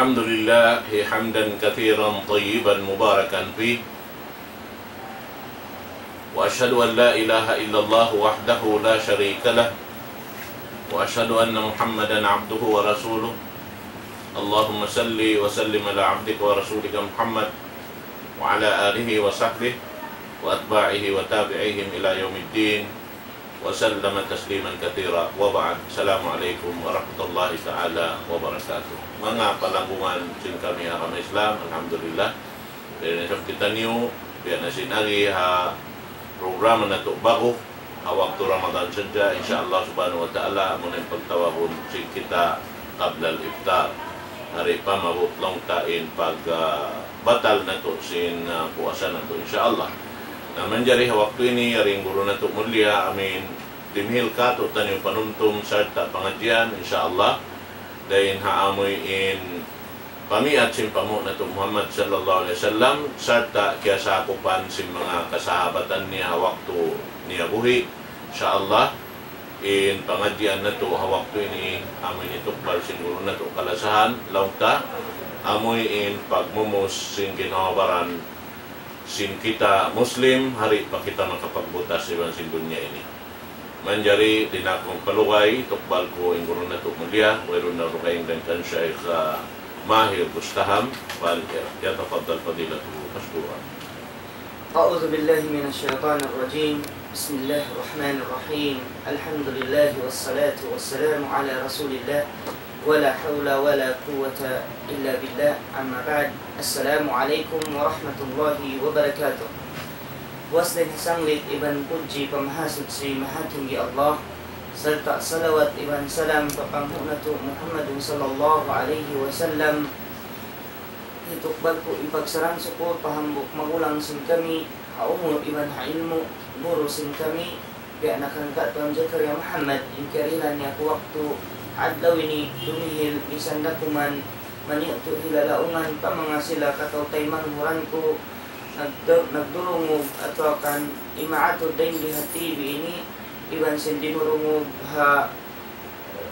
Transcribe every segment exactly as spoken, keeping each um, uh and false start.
الحمد لله حمدا كثيرا طيبا مباركا فيه، وأشهد أن لا إله إلا الله وحده لا شريك له، وأشهد أن محمدا عبده ورسوله. اللهم صل وسلم على عبدك ورسولك محمد وعلى آله وصحبه وأتباعه وتابعيهم إلى يوم الدين وسلم تسليما كثيرا، وبعد. السلام عليكم ورحمة الله تعالى وبركاته. Manga palanggungan sin kami ha agama Islam, alhamdulillah. Dayn ha isab kitaniyu, biya' na sin agi ha programa natu' ba'gu, ha waktu Ramadan sadja, insya Allah subhanahu wa ta'ala, amu na in pagtawagun sin kita qabla al-iftar. Di' pa maabut laung ta in pag, ah, batal natu' sin, ah, puasa natu', insya Allah. Na manjari ha waktu ini, yari in guru natu' mulia, amin, dimihil kātu'niyu panumtum sarta' pangadjian, insya Allah. Dayn ha amuin pamiyat sin panghu' natu' Muhammad sallallahu alayhi wasallam, sarta' kiyasakupan sin manga kasahabatan niya ha waktu niya buhi', insya Allah. In pangadjian natu' ha waktu ini, amuin hitukbal sin guru natu' kalasahan, laung ta, amuin pagmumus sin ginhawa-baran sin kita Muslim, di' pa kita makapagbutas iban sin dunya ini. Manjari di' na aku magpalugay, tukbal ku in guru natu' mulia, wayruun na dugaing dayn kan Shaykh, ah, Mahir Bustaham, فليتفضل فضيلته مشكورا. أعوذ بالله من الشيطان الرجيم. بسم الله الرحمن الرحيم. الحمد لله والصلاة والسلام على رسول الله ولا حول ولا قوة إلا بالله. أما بعد. السلام عليكم ورحمة الله وبركاته. Puas dayn ha sanglit iban pudji pa Mahasuchi Mahatinggi Allah, sarta' salawat iban salam pa panghu' natu' Muhammadun sallallahu alayhi wasallam. Hitukbal ku in pagsarang-sukul pa hambuuk magulang sin kami, ha umul iban ha ilmu', guru sin kami, biya' na kan Ka' Tuan Zakaria Muhammad, in kiyarihilan niya aku waktu adlaw ini dumihil, misan da kuman maniyu' tu' hilalaungan pa manga sila kataw-taymanghuran ku, nagdu-, nagdurungug atawa kan imaatud dayn di ha T V ini, iban sin dinurungug ha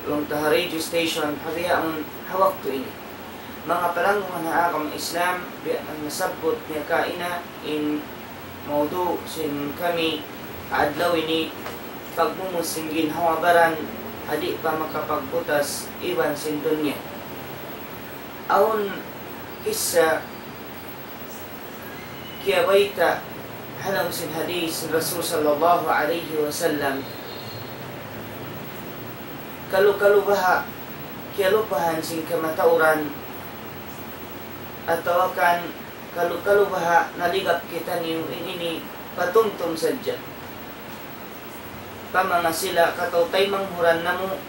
laung ta ha radio station, ha bihaun ha waktu ini. Manga palanggungan ha agama Islam, biya' na nasabbut niya kaina in maudu' sin kami ha adlaw ini, pagmumus sin ginhawa-baran, di' pa makapagbutas iban sin dunya. Awn kissa kiyabayta' ha lawm sin hadith sin Rasul sallallahu alayhi wasallam. Kalu-kalu baha' kiyalupahan sin kamatauran, atawa kan kalu-kalu baha' naligap kitaniyu in ini patumtum sadja. Pa manga sila kataw-taymanghuran namu',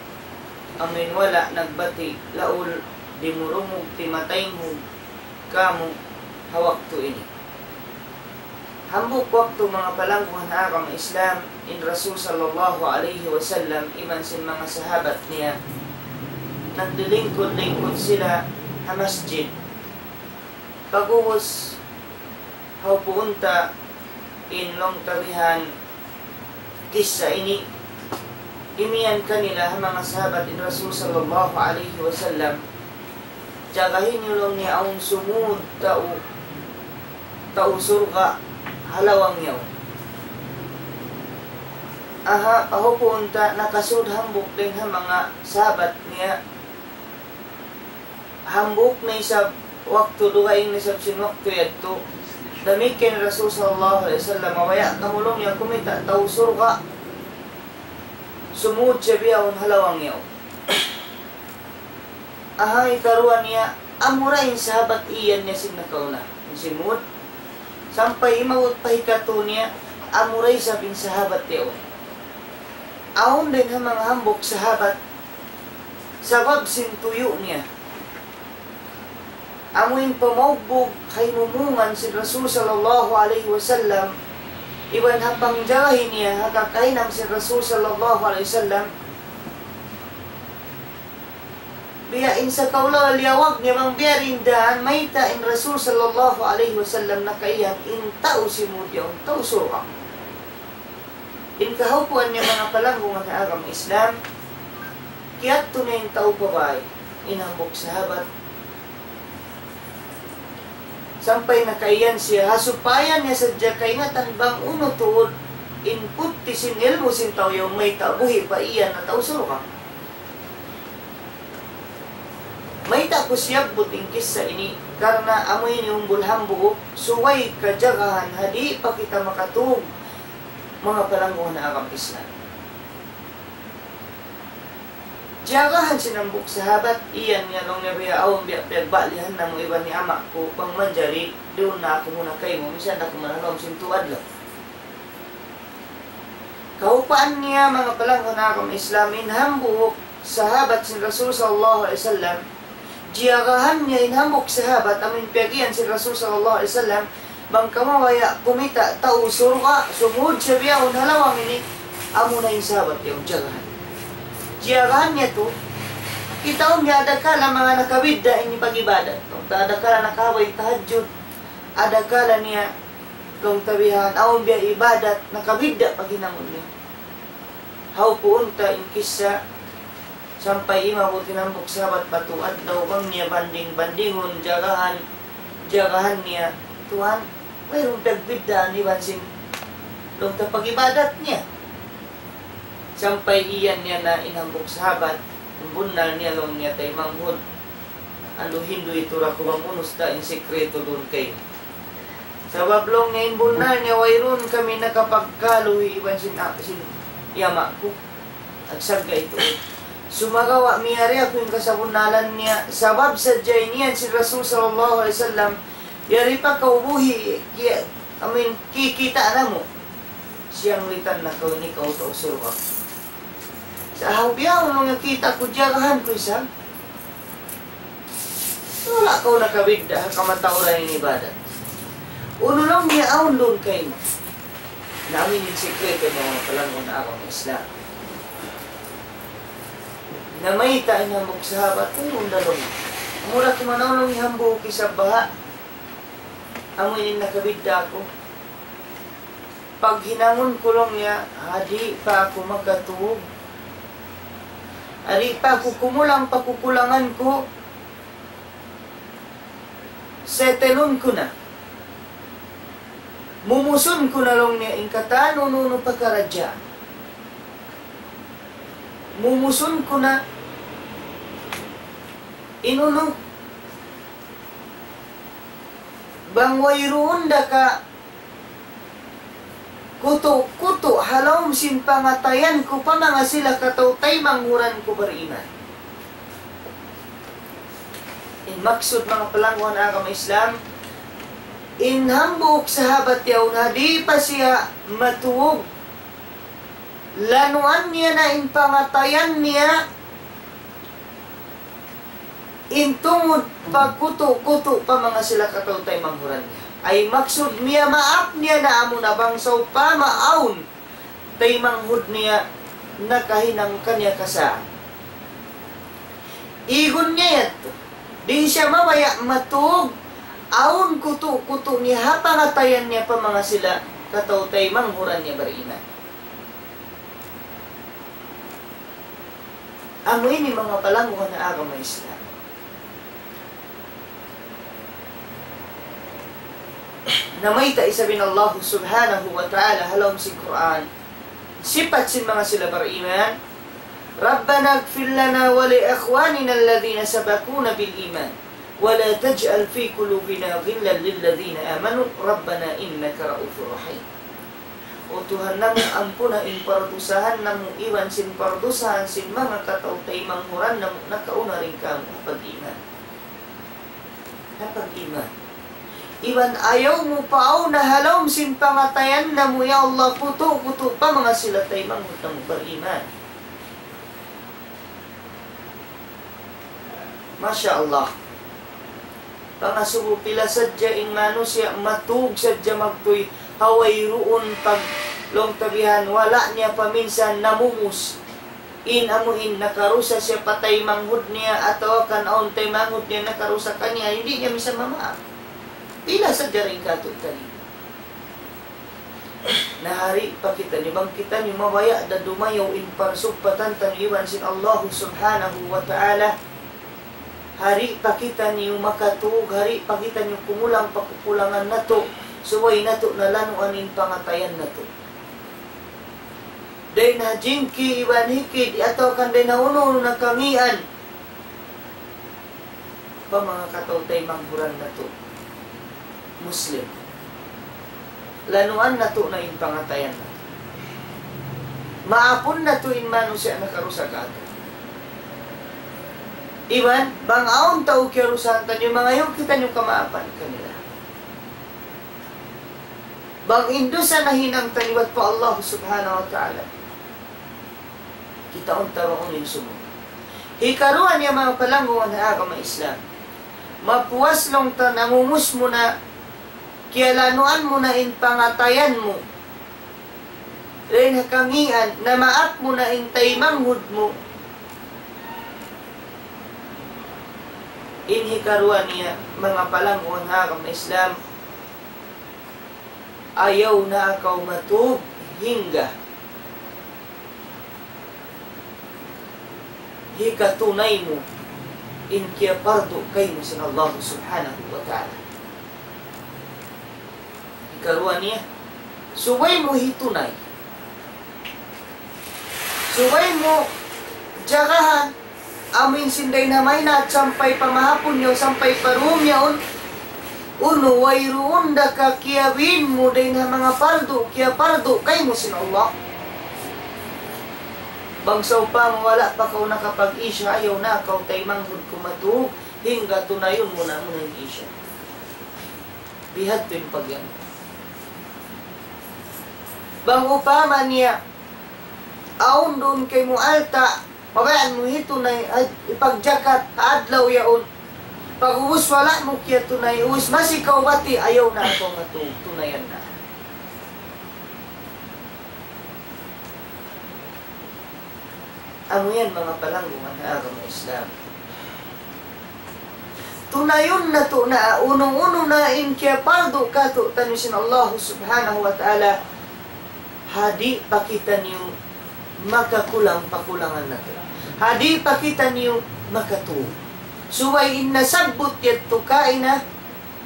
amuin wala' nagbati' laul, dimurungug timataynghug kamu ha waktu ini. Hambuuk waktu, manga palanggungan ha agama Islam, in Rasul sallallahu alayhi wasallam iban sin manga sahabat niya, naglilingkud-lingkud sila ha masjid. Pag'ubus, hawpuun ta in laung ta bihan kissa ini, imiyan kanila ha manga sahabat in Rasul sallallahu alayhi wasallam, jagahi niyu laung niya awn sumud tau, tau surga' ha lawang yaun. Aha, pag'ubus ta nakasud hambuuk dayn ha manga sahabat niya, hambuuk na isab waktu, dugaing na isab sin waktu yadtu. Damikkiyan Rasul sallallahu alayhi wasallam, mabaya' kamu laung niya kumita' tau surga', sumud siya bihaun ha lawang yaun. Aha, hikaruwa niya, amura in sahabat iyan niya sin nakauna, in simud. Sampay imabut pa hikatu niya, amura isab in sahabat yaun. Awn dayn ha manga hambuuk sahabat, sabab sin tuyu' niya, amu in pamaugbug ha imumungan sin Rasul sallallahu alayhi wasallam, iban ha pangjagahi niya ha kakahinang sin Rasul sallallahu alayhi wasallam. Biya' in sakaula liyawag niya bang biya' diin daan, mayta' in Rasul sallallahu alayhi wasallam nakaiyan in tau simud yaun tau surga'. In kahawpuan niya, manga palanggungan ha agama Islam, kiyadtu na in tau pa bāy, in hambuuk sahabat, Sampay nakaiyan siya, ha supaya niya sadja kaingatan bang unu tuud in putti sin ilmu' sin tau yaun mayta' buhi' pa iyan na tau surga'. Mayta' ku siyabbut in kissa ini, karna' amu ini umbul hambuuk, subay kajagahan ha di' pa kita makatug, manga palangguhan ha agama Islam. Jagahan sin hambuuk sahabat, iyan niya laung niya biya' awn biya' piyagbalihan namu' iban ni ama' ku, bang manjari, duun na aku muna kaymu, misan da aku manalawm sin tuad laung. Kaupaan niya, manga palangguhan ha agama Islam, in hambuuk sahabat sin Rasul sallallahu alayhi wasallam, jiyagahan niya in hambuuk sahabat, amu in piyag-iyan sin Rasul sallallahu alayhi wasallam, bang kamu mabaya' kumita' tau surga', sumud siya bihaun ha lawang ini, amu na in sahabat yaun jagahan. Jiyagahan niya tu, kitaun niya adakala manga nakabidda' ini pag-ibadat. Adakala nakahaba' in tahajjud, adakala niya laung ta bihan, awn biya' ibadat, nakabidda' paghinangun niya. Hawpuun ta in kissa, sampay imabut in hambuuk sahabat pa tu adlaw bang niya banding-bandingun, jagahan, jagahan niya, Tuhan, wayruun pagbiddaan iban sin laung ta pag-ibadat niya. Sampay iyan niya na in hambuuk sahabat, in bunnal niya laung niya taymanghud. Andu' hindu' itu ra ku bang unu isda in sikretu duun kaymu. Sabab laung niya in bunnal niya wayruun kami nakapagkaluhi iban sin, sin ama' ku. Agsagga' itu. Sumagawa' miyari aku in kasabunnalan niya. Sabab sadja in iyan sin Rasul sallallahu alayhi wasallam, yari pa kaw buhi', kiya-, amin, kikita' namu'. Siyanglitan na kaw ini kaw tau surga'. Sa' awn biya' unu nga kita' ku jagahan ku isab. Wala' kaw nakabidda' ha kamatauran in ibadat. Unu laung niya awn duun kaymu. Na amu in sikretu niya manga palangguhan ha agama Islam. Na mayta' in hambuuk sahabat, wayruun da laung. Mura ku manaw laung in hambuuk isab baha'. Amu in nakabidda' aku. Paghinangun ku laung niya, ha di' pa aku makatug. Ha di' pa aku kumulang pa kukulangan ku, settle-un ku na. Mumusun ku na laung niya in katan unu-unu pakaradjaan. Mumusun ku na in unu, bang wayruun da ka kutu'-kutu' ha lawm sin pangatayan ku pa manga sila kataw-taymanghuran ku bariman. In maksud manga palangguhan ha agama Islam, in hambuuk sahabat yaun ha di' pa siya matug, lanuan niya na in pangatayan niya, in tungud pagkutu'-kutu' pa manga sila kataw-taymanghuran niya. Ay maksud niya maap niya na amu na bang sawpama awn taymanghud niya nakahinang kaniya kasaan. Igun niya yadtu. Di' siya mabaya' matug, awn kutu'-kutu' niya ha pangatayan niya pa manga sila kataw-taymanghuran niya bariman. Amu ini manga palangguhan ha agama Islam. Na mayta' isab in Allah subhanahu wa ta'ala ha lawm sin Qur'an. Sipat sin manga sila bariman, ربنا اغفر لنا ولإخواننا الذين سبقونا بالإيمان ولا تجعل في قلوبنا غلا للذين آمنوا ربنا إنك رءوف رحيم. O Tuhan namu', ampuna in pardusahan namu' iban sin pardusahan sin manga kataw-taymanghuran namu' nakauna dayn kāmu' ha pag-iman. Ha pag-iman. Iban ayaw mu paawn ha lawm sin pangatayan namu', ya Allah, kutu'-kutu' pa manga sila taymanghud namu' bariman. Masha Allah. Pangasubu, pila sadja in manusiya' matug sadja magtuy ha wayruun pag-, laung ta bihan, wala' niya pa minsan namumus. In amu in nakarusa siya pa taymanghud niya atawa kan awn taymanghud niya nakarusa kaniya, di' niya minsan mamaap. Pila sadja dayn kātu'niyu. Na di' pa kitaniyu, bang kitaniyu mabaya' da dumayaw in parsugpatan taniyu iban sin Allah subhanahu wa ta'ala. Hari pa kitaniyu makatug, hari pa kitaniyu kumulang pa kakulangan natu', subay natu' na lanuan in pangatayan natu'. Dayn ha jingki iban hikid, atawa kan dayn ha unu-unu na kangīan pa manga kataw-taymanghuran natu' Muslim. Lanuan natu' na in pangatayan natu'. Maapun natu' in manusiya' nakarusa kātu'. Iban, bang awn tau kiyarusahan taniyu, mangayu' kitaniyu kamaapan kanila. Bang in dusa nahinang ta liwat pa Allah Subhanahu wa Ta'ala, kitaun ta duun in sumud. Hikaruwa niya, manga palanggungan ha agama Islam, mapuas laung ta nangungus mu na, kiyalanuan mu na in pangatayan mu, dayn ha kangīan, namaap mu na in taymanghud mu. In hikaruwa niya, manga palanggungan ha agama Islam, ayaw na kaw matug hangga hikatunay mu in kiyapardu kaymu sin Allah Subhanahu wa Ta'ala. Hikaruwa niya, subay mu hitunay. Subay mu jagahan, amu in sin dayn ha mahinaat sampay pa mahapun yaun, sampay pa dūm yaun. Unu, wayruun da ka kiyabin mu dayn ha manga pardu, kiyapardu kaymu sin Allah. Bang sawpama wala' pa kaw nakapag-isya, ayaw na kaw taymanghud ku matug, hangga tunayun mu na muna in isya. Bihadtu in pagyan. Bang upama niya, awn duun kaymu alta', pabayaan mu hitunay, ay, ipagjakat ha adlaw yaun. Pag'ubus wala' mu kiyatunay, ubus masi kaw bati', ayaw na kaw matug, tunayan na. Amu yan, manga palanggungan ha agama Islam. Tunayun natu' na unu-unu na in kiyapardu kātu'niyu sin Allah Subhanahu wa Ta'ala, ha di' pa kitaniyu makakulang pa kulangan natu'. Ha di' pa kitaniyu makatug. Subay in nasabbut yadtu kaina,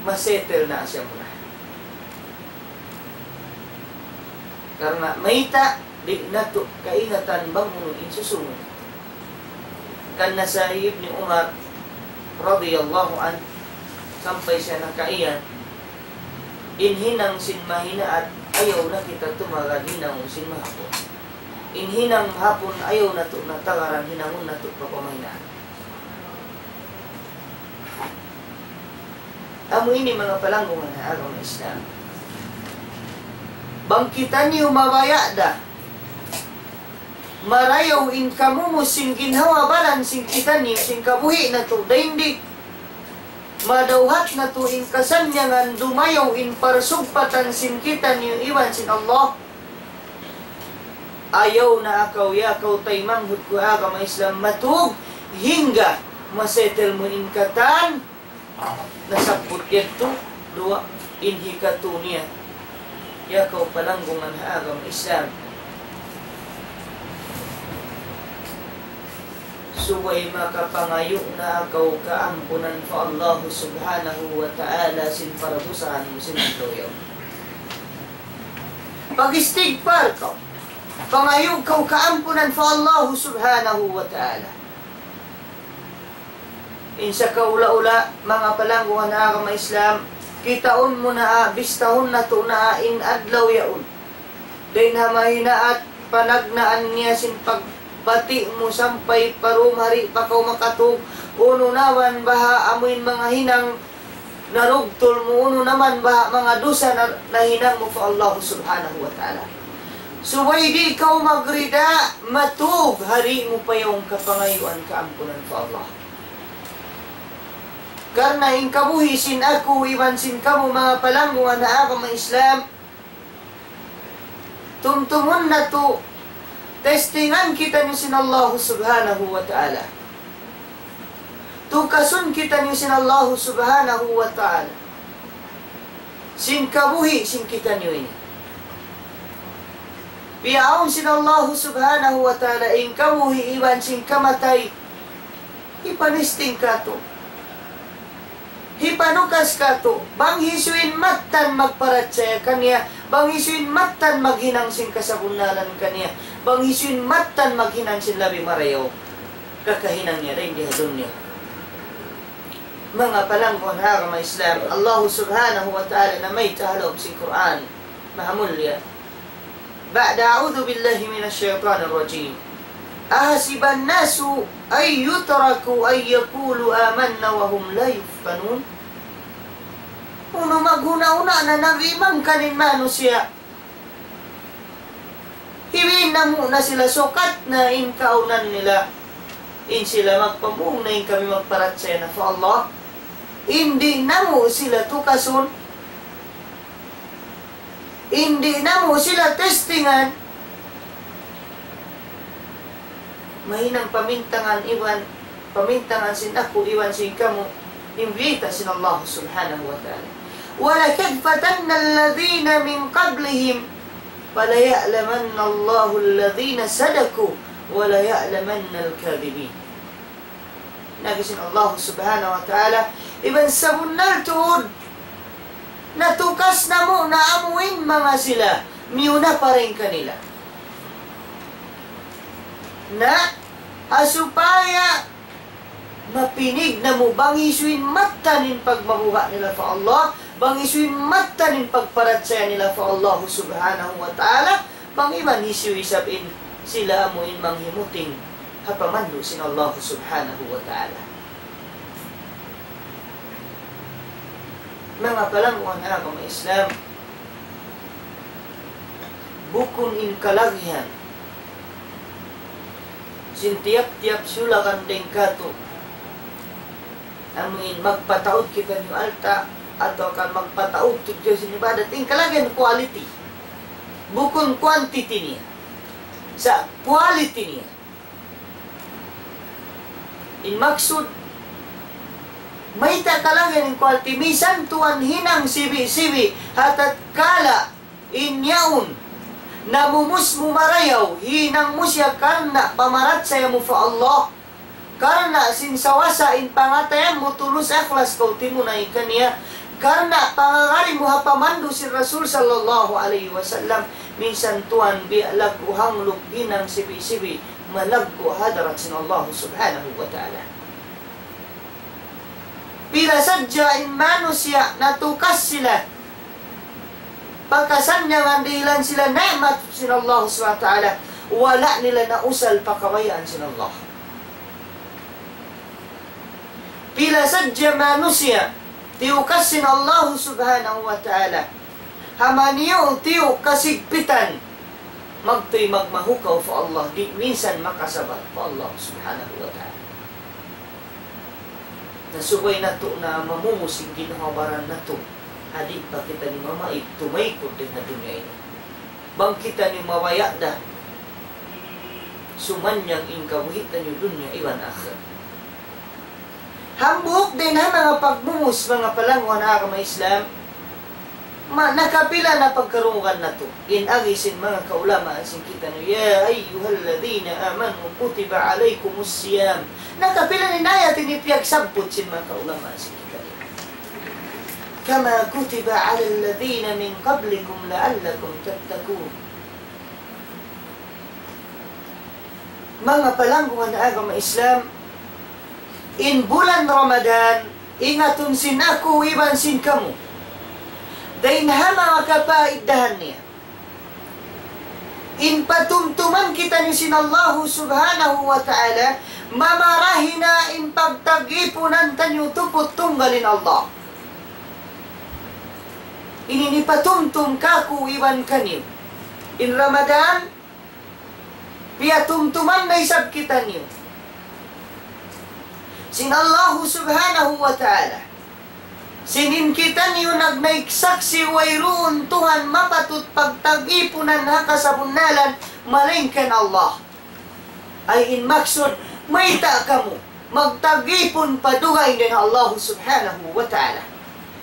masettle na siya muna. Karna' mayta', di' natu' kaingatan bang unu in susūngun. Kan nasa hi Ibni Umar radiyallahu anhu, sampay siya nakaiyan, in hinang sin mahinaat, ayaw na kita tumagad hinangun sin mahapun. In hinang mahapun, ayaw natu' na tagaran hinangun natu' pa pamahinaat. Amu ini manga palanggungan ha agama Islam. Bang kitaniyu mabaya' da, marayaw in kamumus sin ginhawa-baran sin kitaniyu, sin kabuhi' natu', dayn di' madawhat natu' in kasannyangan, dumayaw in parsugpatan sin kitaniyu iban sin Allah. Ayaw na kaw, ya kaw taymanghud ku ha agama Islam, matug hangga masettle mu in katan nasabbut yadtu duwa. In hikatu niya, ya kaw palanggungan ha agama Islam, subay makapangayu' na kaw kaampunan pa Allah Subhanahu wa Ta'ala sin paradusahan mu sin adlaw yaun. Pag-istigfar kaw. Pangayu' kaw kaampunan pa Allah Subhanahu wa Ta'ala. In sakaula-ula, manga palanggungan ha agama Islam, kitaun mu na, bistahun natu' na in adlaw yaun. Dayn ha mahinaat panagnaan niya sin pagbati' mu sampay pa dūm hari pa kaw makatug, unu na man baha' amuin manga hinang narugtul mu, unu na man baha' manga dusa na, nahinang mu pa Allah Subhanahu wa Ta'ala. Subay di' kaw magrida, matug hari mu pa yaun kapangayuan kaampunan pa Allah. Karna' in kabuhi' sin aku iban sin kamu manga palanggungan ha agama Islam, tumtumun natu', testingan kitaniyu sin Allah Subhanahu wa Ta'ala. Tukasun kitaniyu sin Allah Subhanahu wa Ta'ala sin kabuhi' sin kitaniyu ini. Piyaawn sin Allah Subhanahu wa Ta'ala in kabuhi' iban sin kamatay, hipanesting katu'. hipanukas katu', bang hisiyu in mattan magparachaya kaniya, bang hisiyu in mattan maghinang sin kasabunnalan kaniya, bang hisiyu in mattan maghinang sin labi marayaw kakahinang niya dayn di ha dunya. Manga palangguan ha agama Islam, Allah Subhanahu wa Ta'ala namayta' ha lawm sin Qur'an. Mahamulliya. بعد أعوذ بالله من الشيطان الرجيم. أحسب الناس أن يتركوا أن يقولوا آمنا وهم لا يفتنون. Unu maghuna-huna na nag-iman kan in manusiya'. Hiwi namu' na sila sukat na in kaunan nila. In sila magpamung na in kami magparachaya na pa Allah. In di' namu' sila tukasun. In di' namu' sila testingan. Mahinang pamintangan iban, pamintangan sin aku iban sin kamu, in biyayta' sin Allah Subhanahu wa Ta'ala. ولقد فتنا الذين من قبلهم فليعلمن الله الذين صدقوا وليعلمن الكاذبين. Laung sin Allah Subhanahu wa Ta'ala, iban sabunnal tuud, natukas namu' na amuin manga sila, miyuna pa dayn kanila. Na, ha supaya mapinig namu' bang hisiyu in mattan in pagmabuga' nila pa Allah, bang hisiyu in mattan in pagparachaya nila pa Allah Subhanahu wa Ta'ala, bang iban hisiyu isab in sila amuin manghimuting ha pamandu' sin Allah Subhanahu wa Ta'ala. Manga palangguan ha agama Islam, bukun in kalagihan sin tiyap-tiyap sulakan dayn katu', amuin magpataud kitaniyu alta' atawa kan magpataud kitaniyu sin ibadat, in kalagihan quality. Bukun quantity niya. Sa' quality niya. In maksud, mayta' kalagihan in quality, minsan tuwan hinang sibi'-sibi', ha tatkala in yaun, namumus mu marayaw, hinang mu siya karna' pamarachaya mu pa Allah, karna' sin sawasa in pangatayan mu tulus ikhlas kaw timunay kaniya, karna' pangagad mu ha pamandu' sin Rasul sallallahu alayhi wasallam, minsan tuwan biya' laggu' hangluk hinang sibi'-sibi', malaggu' hadarat sin Allah Subhanahu wa Ta'ala. Pila sadja in manusiya' natukas sila pa kasannyangan dihilan sila ni'mat sin Allah Subhanahu wa Ta'ala, wala' nila nausal pa kabayaan sin Allah. Pila sadja manusiya' tiyukas sin Allah Subhanahu wa Ta'ala ha maniyu'-tiyu' kasigpitan, magtuy magmahukaw pa Allah, di' minsan makasabar pa Allah Subhanahu wa Ta'ala. Na subay natu' na mamumus in ginhawa-baran natu', ha di' pa kitaniyu mamaid tumaykud dayn ha dunya ini. Bang kitaniyu mabaya' da, sumannyang in kabuhi' taniyu dunya iban akhirat. Hambuuk dayn ha manga pagmumus, manga palangguan ha agama Islam, ma-, nakapila na pagkarungugan natu'. In agi sin manga kaulamaan sin kitaniyu, يا أيها الذين آمنوا كتب عليكم الصيام. Nakapila na in ayat ini piyagsabbut sin manga kaulamaan sin kitaniyu. كما كتب على الذين من قبلكم لعلكم تتقون. Manga palangguan ha agama Islam, in bulan Ramadan, ingatun sin aku iban sin kamu. Dayn ha manga kapaiddahan niya. In patumtuman kitaniyu sin Allahu Subhanahu wa Ta'ala, mamarahi na in pagtag-ipunan taniyu tuput tunggal in Allah. Ini in hipatumtum kaku' iban kaniyu. In Ramadan, piyatumtuman na isab kitaniyu sin Allahu Subhanahu wa Ta'ala. Sin in kitaniyu nagnaik saksi' wayruun Tuhan mapatut pagtag-ipunan ha kasabunnalan malaingkan Allah. Ay in maksud, mayta' kamu magtag-ipun pa dugaing dayn ha Allah Subhanahu wa Ta'ala.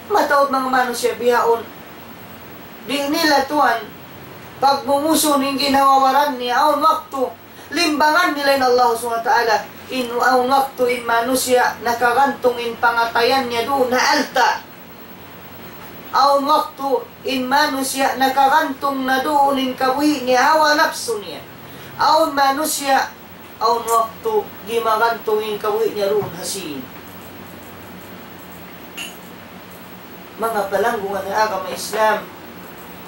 Mataud manga manusiya' bihaun, di' nila tuwan pagmumusun in ginhawa-baran niya awn waktu Limbangan nila in Allah Subhanahu wa Ta'ala, in awn waktu in manusiya' nakagantung in pangatayan niya duun ha alta'. Awn waktu in manusiya' nakagantung na duun in kabuhi' niya ha hawa napsu niya. Awn manusiya', awn waktu gimagantung in kabuhi' niya duun ha sīn. Manga palanggungan ha agama Islam,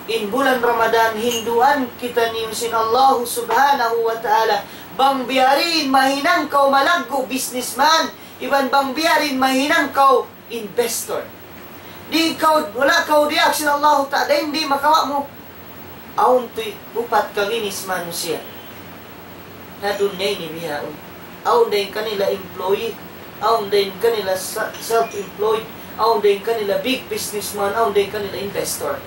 in bulan Ramadan, hinduan kitaniyu sin Allahu Subhanahu wa Ta'ala, bang biya' diin mahinang kaw malaggu' businessman, iban bang biya' diin mahinang kaw investor. Di' kaw, wala' kaw diyaak sin Allahu Ta'ala, di' makawa' mu. Awn tuud upat kaginis manusiya' ha dunya ini bihaun. Awn dayn kanila employee, awn dayn kanila sa-, self-employed, awn dayn kanila big businessman, awn dayn kanila investor.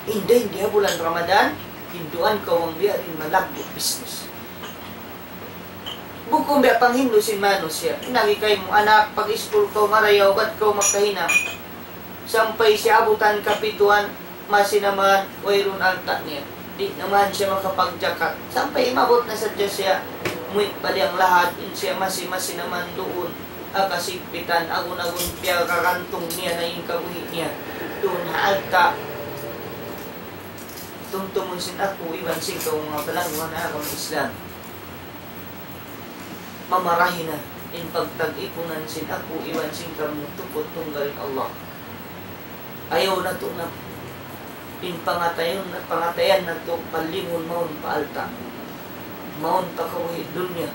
In dayn di ha bulan Ramadan, hinduan kaw bang biya' diin malaggu' business. Bukun biya' panghindu' sin manusiya'. Nagi kaymu anak, pag-iskul kaw marayaw, bat kaw makahinang. Sampay siya abutan kapituan, masi na man, wayruun alta' niya. Di' na man siya makapagjakat. Sampay imabut na sadja siya, muwi' pa liyang lahat, in siya masi-masi na man duun, ha kasigpitan, agun-agun piyagagantung niya na in kabuhi' niya. Duun ha alta'. Tumtumun sin aku, iban sin kaw manga palanggungan ha agama Islam. Mamarahi na in pagtag-ipunan sin aku iban sin kamu tuput tunggal in Allah. Ayaw natu' na in pangatayan, pangatayan natu' palingun mawn pa alta', mawn pa kabuhi' dunya,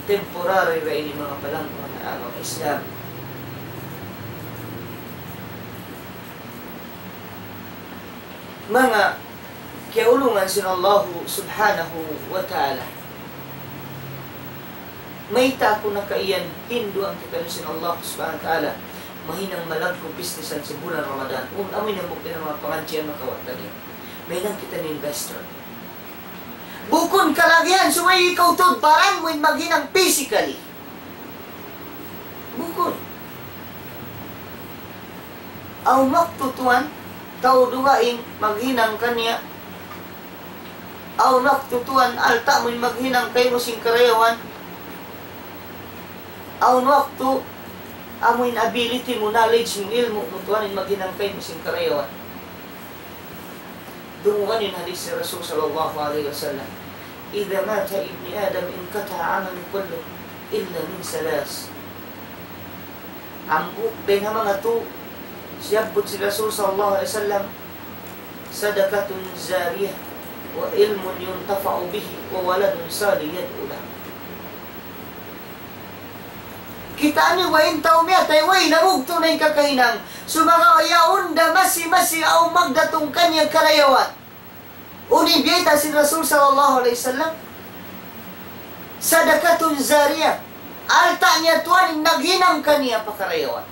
temporary ra ini manga palanggungan ha agama Islam. Manga kiyaulungan sin Allahu Subhanahu wa Ta'ala. Mayta' aku nakaiyan hinduan kitaniyu sin Allahu Subhanahu wa Ta'ala. Mahinang malaggu' businessan sin bulan Ramadan. Un, amu in hambuuk dayn ha manga pangadjian makawa' taniyu. Mahinang kitaniyu investor. Bukun kalagihan subay ikaw tuud baran mu in maghinang physically. Bukun. Awn waktu tuwan, tau dugaing maghinang kaniya. Awn waktu tuwan, alta' mu in maghinang kaymu sin karayawan. Awn waktu, amu in ability mu, knowledge mu, ilmu' mu tuwan in maghinang kaymu sin karayawan. Dungugan in hadith sin Rasul sallallahu alayhi wasallam, إذا مات ابن آدم انقطع عمله كله إلا من ثلاث. Hambuuk dayn ha manga tū, siyabbut sin Rasul sallallahu alayhi wasallam, صدقة جارية وعلم ينتفع به وولد صالح يدعو له. Kitaa niyu ba in tau miyatay, way na bugtu' na in kakahinang. Sumagawa' yaun da masi-masi awn magdatung kaniya karayawan. Unu in biyayta' sin Rasul sallallahu alayhi wasallam? صدقة جارية. Alta' niya tuwan in naghinang kaniya pa karayawan.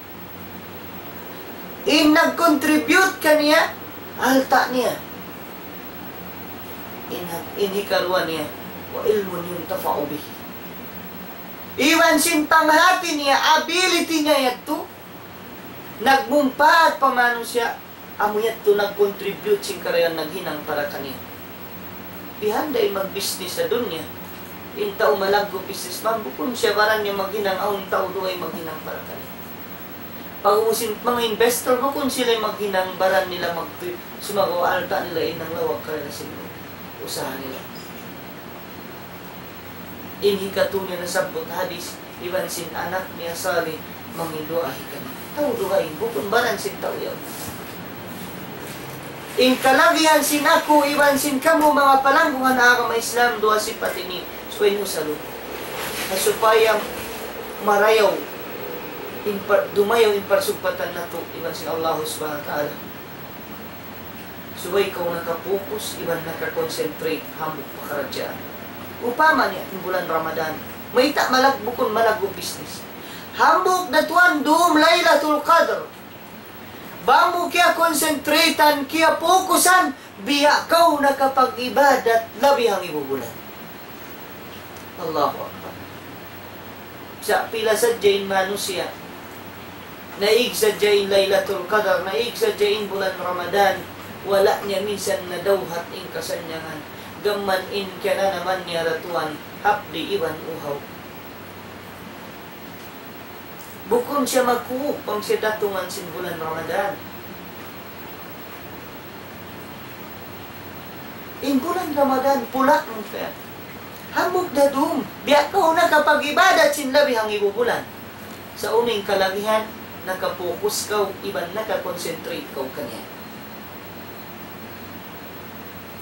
In nag-contribute kaniya, alta' niya. In, in hikaruwa niya, وعلم ينتفع به. Iban sin panghati niya, ability niya yadtu, nagmumpaat pa manusiya', amu yadtu nag-contribute sin karayawan naghinang para kaniya. Bihan da in mag-business ha dunya. In tau malaggu' businessman, bukun siya baran niya maghinang, awn tau dugaing maghinang para kaniya. Pag-ubus in manga investor, bukun sila in maghinang, baran nila magtu-, sumagawa' alta' nila in nanglawag kanila sin usaha nila. In hikatū niya nasabbut hadith, iban sin anak niya salih, manginduwaa hi kaniya. Tau dugaing, bukun baran sin tau yaun. In kalagihan sin aku, iban sin kamu, manga palanggungan ha agama Islam, duwa sipat ini, subay mu salutu. Na supaya marayaw, in par-, dumayaw in parsugpatan natu', iban sin Allah Subhanahu wa Ta'ala. Subay kaw naka-focus iban naka-concentrate hambuuk pakaradjaan. Upama niya, in bulan Ramadan, mayta' malag-, bukun malaggu' business. Hambuuk da tuwan dūm Laylatul Qadr. Bang mu kiya-concentrate-an, kiya-focus-an, biya' kaw nakapag-ibadat labi hangibu bulan. Allahu Akbar. Sa' pila sadja in manusiya', naig sadja in Laylatul Qadr, naig sadja in bulan Ramadan, wala' niya minsan nadawhat in kasannyangan. Gam man in kiyananaman niya da tuwan, hapdi' iban uhaw. Bukun siya makūg bang siya datungan sin bulan Ramadan. In bulan Ramadan, pula' mu kaya. Hambuuk da dum, biya' kaw nakapag-ibadat sin labi hangibu bulan. Sa' unu in kalagihan, nakapokus kaw, iban naka-concentrate kaw kaniya.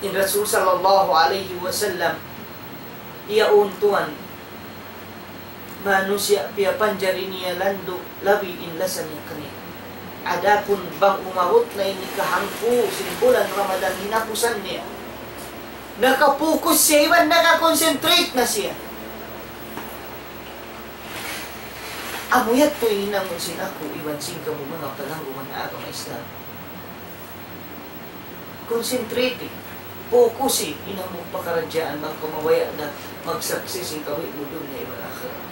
In Rasul sallallahu alayhi wasallam, iyaun tuwan, manusiya' piyapanjari niya landu' labi in lasa niya kaniya. Adapun bang umabut na in kahangpu' sin bulan Ramadan hinapusan niya, nakapokus siya iban naka-concentrate na siya. Amu yadtu in hinangun sin aku iban sin kamu manga palanggungan ha agama Islam. Concentrate, focus in amu pakaradjaan bang kaw mabaya' na mag-success in kabuhi' mu dunya iban akhirat.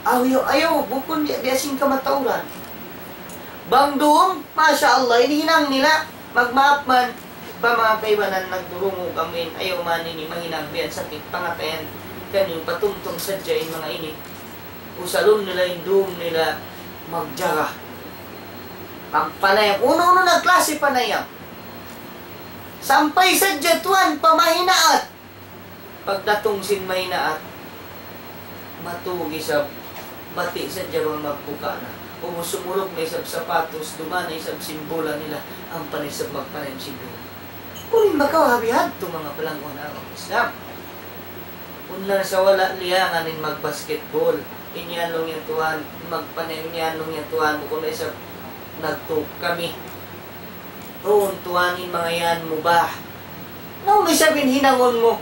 Ayaw, ayaw, bukun biya', biya' sin kamatauran. Bang dum, masha Allah, in hinang nila, magmaap man, pa manga kaibanan nagdurungug amuin, ayaw man ini mahinang biya' sakit pangatayan, kaniyu patumtum sadja in manga ini. Usalun nila in dum nila magjaga. Magpanayam. Unu-unu na klasi panayam. Sampay sadja tuwan pa mahinaat. Pagdatung sin mahinaat, matug isab, bati' sadja bang magbuka na. Ubus sumuluk na isab sapatus, duman na isab sin bola nila, ampa na isab magpanayam sin dum. Unu in makawa' ha bihadtu manga palangguan agama Islam. Unu na sa wala' liyangan in mag-basketball. In yan laung niya tuwan, magpanayam in yan laung niya tuwan, bukun na isab nagtug kami. Duun tuwan in manga yan mubah. Na unu isab in hinangun mu?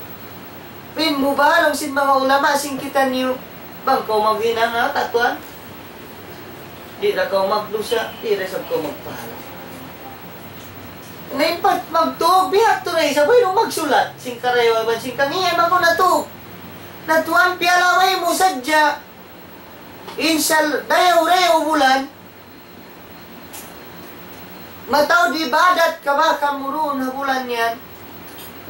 In mubah laung sin manga ulama sin kitaniyu. Bang kaw maghinang ha katuan, di' da kaw magdusa, di' da isab kaw magpahala. Na in pag-, magtug, bihadtu na isab, wayruun magsulat. Sin karayawan, sin kaniya, maku natug. Na tuwan piyalaway mu sadja. In sal-, dayaw-dayaw bulan, mataud ibadat ka ba kamu duun ha bulan yan?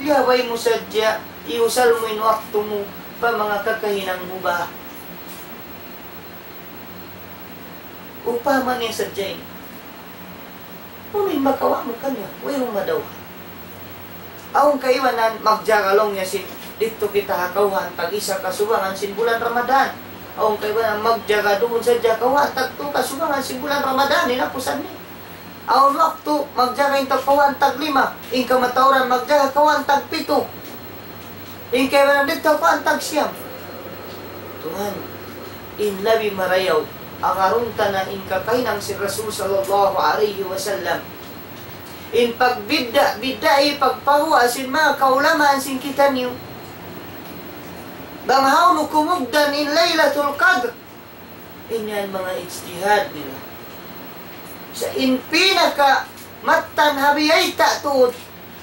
Liyabay mu sadja, iyusal mu in waktu mu pa manga kakahinang mubah. Upama niya sadja ini. Unu in makawa' mu kaniya? Wayruun madaw. Awn kaibanan magjaga laung niya sin, didtu kita ha kawhaan tag-isa kasubangan sin bulan Ramadan. Awn kaibanan magjaga duun sadja kawhaan tagtū kasubangan sin bulan Ramadan, hinapusan niya. Awn waktu magjaga in tau kawhaan taglima, in kamatauran magjaga kawhaan tagpitu. In kaibanan didtu kawhaan tagsiyam. Tuwan, in labi marayaw, agarun ta na in kakahinang sin Rasul sallallahu alayhi wasallam. In pagbidda'-bidda'i, pagpaguwa' sin manga kaulamaan sin kitaniyu. Bang hawnu kumugdan in Laylatul Qadr. In yan manga ijtihad nila. Sa' in pinaka mattan ha biyayta' tuud,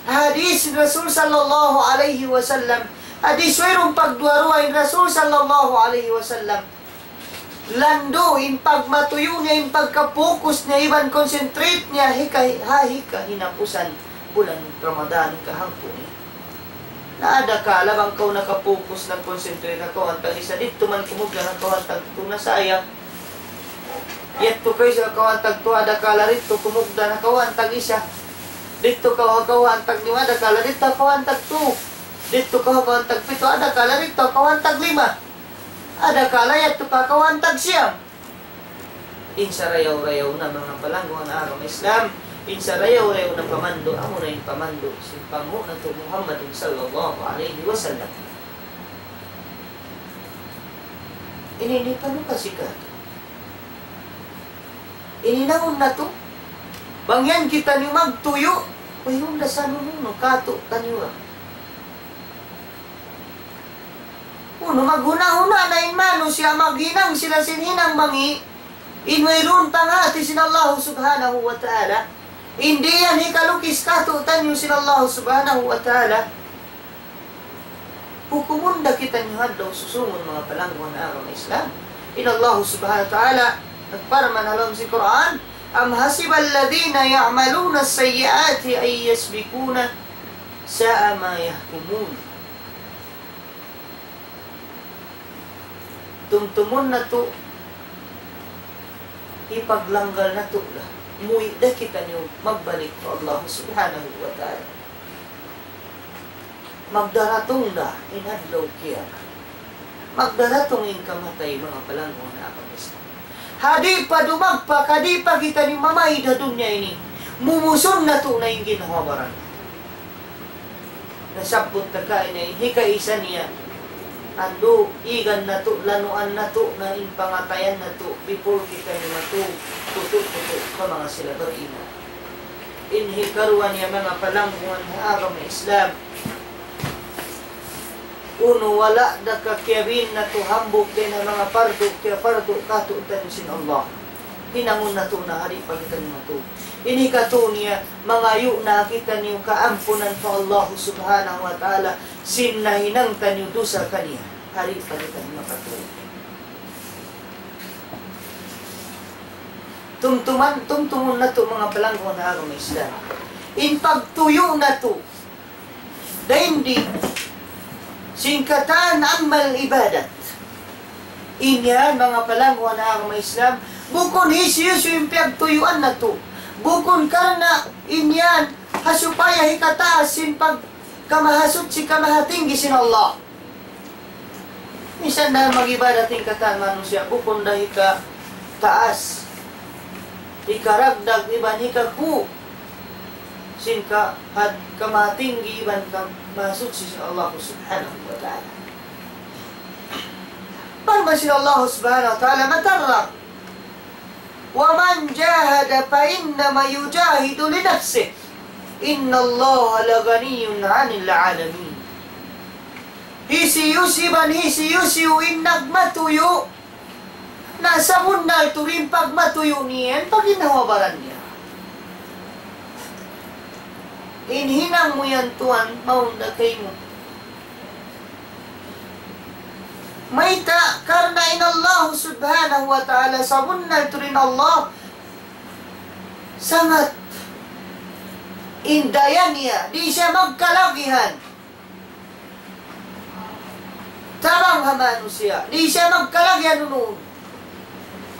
hadis Rasul sallallahu alayhi wasallam. Hadis wayruun pagduwa-ruwa in Rasul sallallahu alayhi wasallam. Landu' in pagmatuyu' niya, in pagka-focus niya, iban concentrate niya, hika-, ha hika hinapusan bulan Ramadan, kahangpu' niya. Na adakala bang kaw naka-focus, nag-concentrate ha kawhaan tag-isa, didtu man kumugdan ha kawhaan tagtū, na sayang. Yadtu kaw ha kawhaan tagtū, adakala didtu kumugdan ha kawhaan tag-isa. Didtu kaw ha kawhaan taglima, adakala didtu ha kawhaan tagtū. Didtu kaw ha kawhaan tagpitu, adakala didtu ha kawhaan taglima. Adakala yadtu pa kawhaan tagsiyam. In sarayaw-rayaw na manga palangguan agama Islam, in sarayaw-rayaw na pamandu', amuna in pamandu' sin panghu' natu' Muhammadun sallallahu alayhi wasallam. Ini, ini pa nu kasi ka. Ini naun natu'. Bang yan kitaniyu magtuyu', wayruun da sa nunu, nu katu' taniyu ra. Unu, maghuna-huna na in manusiya', maghinang sila sin hinang mangi', in wayruun panghati sin Allahu Subhanahu wa Ta'ala, in di' yan hikalukis katu' taniyu sin Allahu Subhanahu wa Ta'ala. Hukumun da kitaniyu ha adlaw susungun, manga palangguan agama Islam. In Allahu Subhanahu wa Ta'ala nagparman ha lawm sin Qur'an, أم حسب الذين يعملون السيئات أن يسبقونا ساء ما يحكمون. Tumtumun natu', hipaglanggal natu' da. Muwi' da kitaniyu magbalik pa Allah Subhanahu wa Ta'ala. Magdaratung da in adlaw kiyamat. Magdaratung in kamatay, manga palanggungan ha agama Islam. Ha di' pa dumagpak, ha di' pa kitaniyu mamaid ha dunya ini, mumusun natu' na in ginhawa-baran. Nasabbut ta kaina in hikaisa niya. Andu', igan natu', lanuan natu' na in pangatayan natu', before kitaniyu matug, kutu'-kutu' pa manga sila bariman. In hikaruwa niya, manga palanggungan ha agama Islam. Unu, wala' da ka kiyabiin natu' hambuuk dayn ha manga pardu, kiyapardu katu'niyu sin Allah. Hinangun natu' na ha di' pa kitaniyu matug. In hikatu niya, mangayu' na kitaniyu kaampunan pa Allah Subhanahu wa Ta'ala, sin nahinang taniyu dusa kaniya, ha di' pa kitaniyu makatug. Tumtuman, tumtumun natu', manga palanggungan ha agama Islam. In pagtuyu' natu', dayn di sin katan amal ibadat. In yan, manga palanggungan ha agama Islam, bukun hisiyu-siyu in piyagtuyuan natu'. Bukun karna' in yan ha supaya hikataas sin pagkamahasuchi, kamahatinggi sin Allah. Minsan da mag-ibadat in katan manusiya', bukun da hikataas, hikaragdag, iban hikakū' sin ka-, had-, kamahatinggi iban kamahasuchi sin Allah Subhanahu wa Ta'ala. Parman sin Allah Subhanahu wa Ta'ala, matarrang, ومن جاهد فإنما يجاهد لنفسه إن الله لغني عن العالمين. Hisiyu-siyu iban hisiyu-siyu in nagmatuyu', na sabunnal tuud in pagmatuyu' niya yan pa ginhawa-baran niya. In hinang mu yan, tuwan, mawn da kaymu. Mayta'? Karna' in Allah Subhanahu wa Ta'ala, sabunnal tuud in Allah, sangat in daya niya, di' siya magkalagihan tabang ha manusiya', di' siya magkalagihan unu-unu.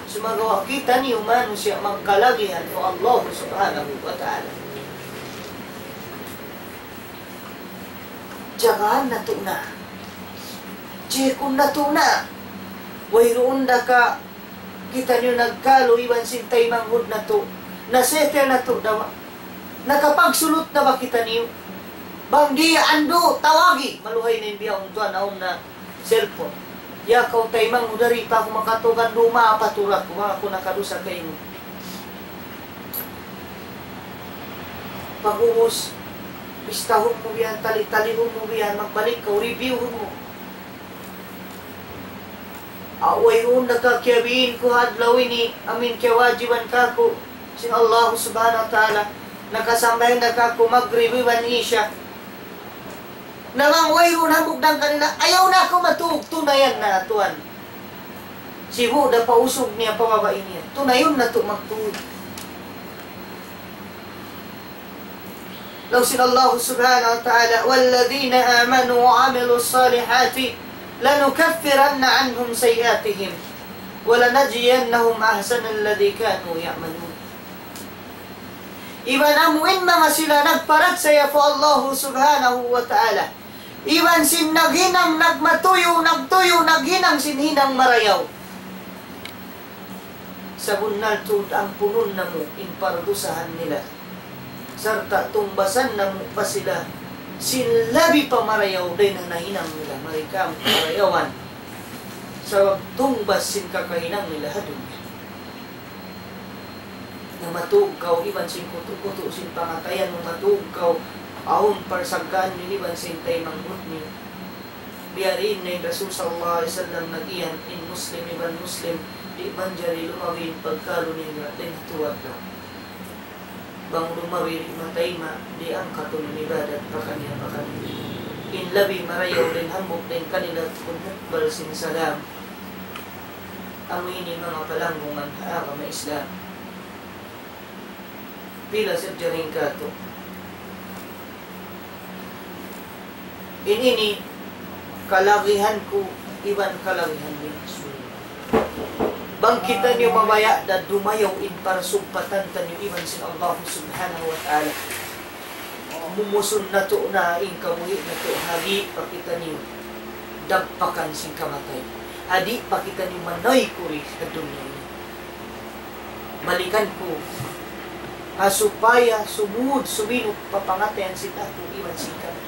Sumagawa' kitaniyu manusiya' magkalagihan pa Allah Subhanahu wa Ta'ala. Jagahan natu' na. Check-un natu' na. Wayruun da ka kitaniyu nagkalu iban sin taymanghud natu'. Na-settle natu' da ba? Nakapagsulut na ba kitaniyu? Bang di', andu', tawagi. Maluhay na in bihaun, tuwan, awn na cellphone. Ya kaw taymanghud, di' pa aku makatug, andu', maapa tuud aku, bang aku nakadusa kaymu. Pag'ubus, bistahun mu biya' yan, tali-talihun mu biya' yan, magbalik kaw, review-hun mu. Aw wayruun da ka kiyabiin ku ha adlaw ini, amu in kiyawajiban kāku' sin Allah Subhanahu wa Ta'ala, nakasambahayang da kāku' Magrib iban Isya. Na bang wayruun hambuuk dayn kanila, ayaw na aku matug, tunayan na, tuwan. Sibu' da pa usug niya, pa babai niya. Tunayun natu' magtug. Laung sin Allah Subhanahu wa Ta'ala, والذين آمنوا وعملوا الصالحات لنكفرن عنهم سيئاتهم ولنجزينهم أحسن الذي كانوا يعملون. Iban amu in manga sila nagparachaya pa Allah Subhanahu wa Ta'ala, iban sin naghinang, nagmatuyu', nagtuyu', naghinang sin hinang marayaw. Sabunnal tuud ampunun namu' in pardusahan nila, sarta' tungbasan namu' pa sila sin labi pa marayaw dayn ha nahinang nila, mari kamu marayawan. Sabab tungbas sin kakahinang nila ha dunya. Na matug kaw iban sin kutu'-kutu' sin pangatayan mu, matug kaw awn parsaggaan niyu iban sin taymanghud niyu. Biya' diin na in Rasul sallallahu alayhi wasallam nag-iyan, in Muslim iban Muslim, di' manjari lumawi in pagkalu nila dayn ha tū adlaw. Bang lumawi di' matayma', di' angkatun in ibadat pakaniya-pakaniya. In labi marayaw dayn hambuuk dayn kanila, kumukbal sin salam. Amu ini manga palanggungan ha agama Islam. Pila sadja dayn kātu'. Ini ini kalagihan ku iban kalagihan niyu. Bang kitaniyu mabaya' da dumayaw in parsumpatan taniyu iban sin Allah Subhanahu wa Ta'ala. Mumusun natu' na in kabuhi' natu' ha di' pa kitaniyu dagpakan sin kamatay. Ha di' pa kitaniyu manaykud ha dunya ini. Balikan ku, ha supaya sumud suminug pa pangatayan sin aku iban sin kamu.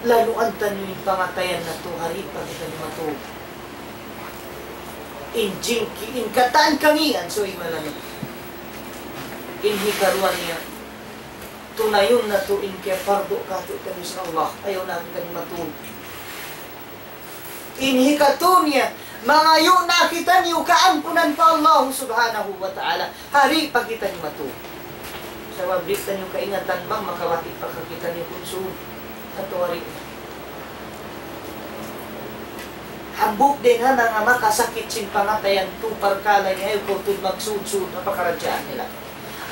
Lanuan taniyu in pangatayan natu' ha di' pa kitaniyu matug. In jingki, in katan kangīan, subay malamud. In hikaruwa niya, tunayun natu' in kiyapardu kātu'niyu sin Allah. Ayaw na kitaniyu matug. In hikatū niya, mangayu' na kitaniyu kaampunan pa Allah Subhanahu wa Ta'ala. Ha di' pa kitaniyu matug. Sabab di' taniyu kaingatan bang makabati' pa kitaniyu kunsud. Atawa di'. Hambuuk dayn ha manga makasakit sin pangatayan tū parkala' ini, ayaw kaw tuud magsud-sud ha pakaradjaan nila.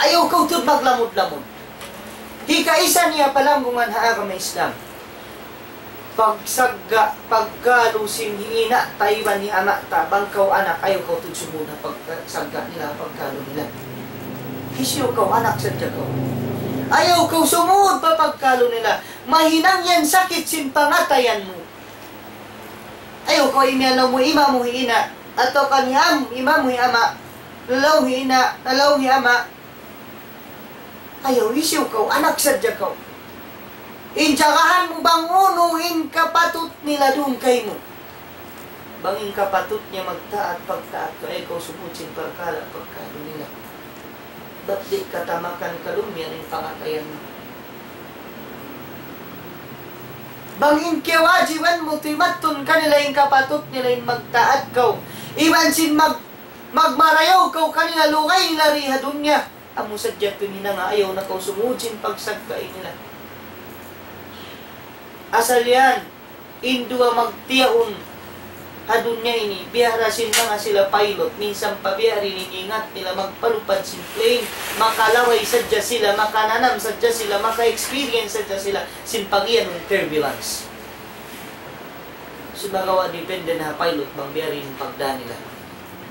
Ayaw kaw tuud maglamud-lamud. Hikaisa niya palanggungan ha agama Islam. Pagsagga', pagkalu sin hi ina' ta iban hi ama' ta, bang kaw anak, ayaw kaw tuud sumud ha pagsagga' nila, pagkalu nila. Hisiyu kaw, anak sadja kaw. Ayaw kaw sumud pa pagkalu nila. Mahinang yan sakit sin pangatayan mu. Ayaw kaw imiyan mu ima mu hi ina', atawa kan hi am-, ima mu hi ama', lalaw hi ina', lalaw hi ama'. Ayaw, hisiyu kaw, anak sadja kaw. In jagahan mu bang unu in kapatut nila duun kaymu. Bang in kapatut niya magtaat, pagtaat kaw, ayaw kaw sumud sin parkala' pagkalu nila. Bat di' katamakan kalumiyan in pangatayan mu. Bang in kiyawajiban mu timattun kanila in kapatut nila in magtaat kaw. Iban sin mag-, magmarayaw kaw kanila lugay nila di ha dunya. Amu sadja piminanga, ayaw na kaw sumud sin pagsagga' nila. Asal yan, in duwa magtiyaun ha dunya ini, biya' da sin manga sila pilot, minsan pa biya' diin in ingat nila magpalupad sin plane, makalaway sadja sila, makananam sadja sila, maka-experience sadja sila, sin pagiyanun turbulence. Sumagawa' depende na ha pilot bang biya' diin in pagdā nila.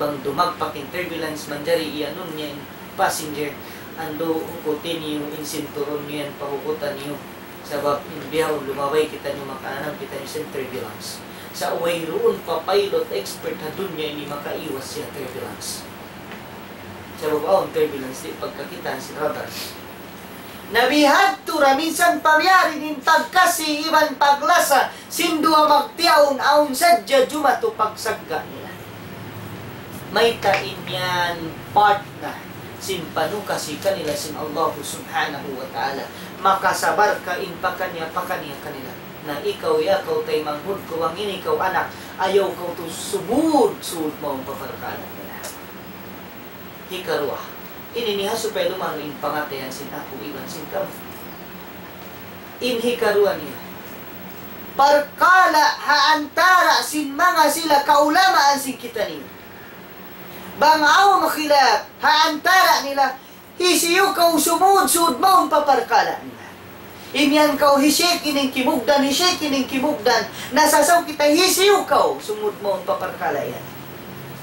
Bang dumagpak in turbulence manjari iyanun niya in passenger, andu', hukuti niyu in sinturun niyu yan, pahukutan niyu. Sabab in bihaun lumabay kitaniyu makananam kitaniyu sin turbulence. Sa' wayruun pa pilot expert ha dunya ini makaiwas siya turbulence. Sabab awn turbulence di' pagkakitaan sin radar. Na bihadtu da minsan pa biya' diin in pagkasi iban paglasa sin duwa magtiyaun awn sadja jumatu pagsagga' nila. Mayta' in yan part na sin panukasi kanila sin Allah Subhanahu wa Ta'ala. Makasabar ka in pakaniya-pakaniya kanila. Na ikaw, ya kaw taymanghud ku, bang in ikaw anak, ayaw kaw tuud sumud-sud mawn pa parkala' nila. Hikaruwa, ini niya ha supaya lumalu' in pangatayan sin aku iban sin kamu. In hikaruwa niya, parkala' ha antara' sin manga sila kaulamaan sin kitaniyu. Bang awn khilaf ha antara' nila, hisiyu kaw sumud-sud mawn pa parkala' nila. Imiyan kaw hi Sheikh ini in kimugdan, hi Sheikh ini in kimugdan. Nasasaw kita hisiyu kaw sumud mawn pa parkala' yan.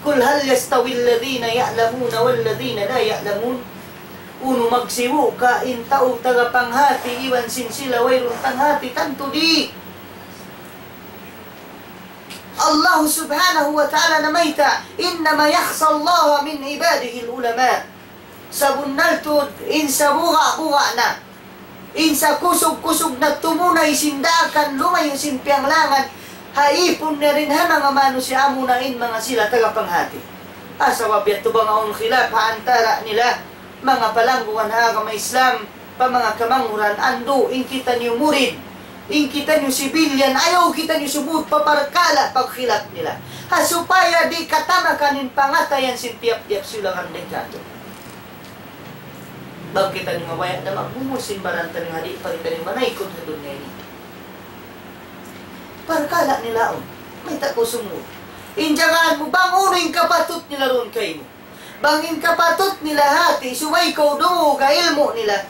قل هل يستوي الذين يعلمون والذين لا يعلمون. Unu magsibu' ka in tau taga panghati iban sin sila wayruun panghati? Tantu di'. Allah Subhanahu wa Ta'ala namayta', إنما يخشى الله من عباده العلماء. Sabunnal tuud in sabuga'-buga' na, in sakusug-kusug na tumunay sin daakan lumayu' sin piyanglangan, ha ipun niya dayn ha manga manusiya' amuna in manga sila taga panghati. Ah, sabab yadtu bang awn khilaf ha antara' nila, manga palanggungan ha agama Islam, pa manga kamanghuran, andu', in kitaniyu murid, in kitaniyu civilian, ayaw kitaniyu sumud pa parkala' pagkhilaf nila. Ha supaya di' katamakan in pangatayan sin tiyap-tiyap silangan dayn kātu'. Bang kitaniyu mabaya' da magbungus sin baran taniyu ha di' pa kitaniyu manaykud ha dunya ini. Parkala' nila yaun, mayta' kaw sumud. In jagahan mu bang unu in kapatut nila duun kaymu. Bang in kapatut nila hati, subay kaw dumungug ha ilmu' nila.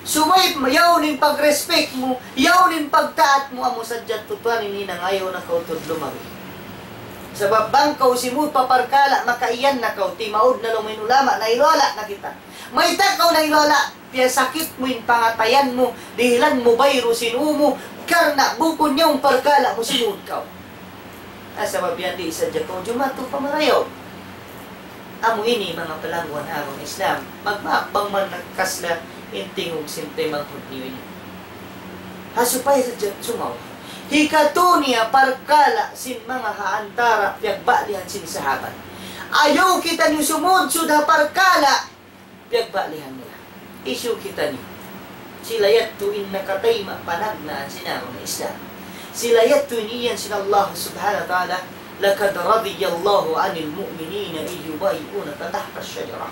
Subay yaun in pag-respect mu, yaun in pagtaat mu, amu sadja tuud tuwan in hinang ayaw na kaw tuud lumabi. Sabab bang kaw simud pa parkala', makaiyan na kaw, timaud na laung in ulama, nahiluhala' na kita. Mayta' kaw nahiluhala', piyasakit mu in pangatayan mu, dihilan mu bayru sin ū mu, karna' bukun yaun parkala' mu simud kaw. Ah, sabab yan di' sadja kaw jumatu pa marayaw. Amu ini manga palangguan ha agama Islam. Magmaap bang man nagkasla in tingug sin taymanghud niyu ini. Ha supaya sadja sumawa. Hikatu niya parkala' sin manga ha antara' piyagbalihan sin sahabat. Ayaw kitaniyu sumudsud ha parkala' piyagbalihan nila. Hisiyu kitaniyu? Sila yadtu in nakatayma' panagnaan sin agama Islam. Sila yadtu in iyan sin Allah Subhanahu wa Ta'ala, لقد رضي الله عن المؤمنين إذ يبايعونك تحت الشجرة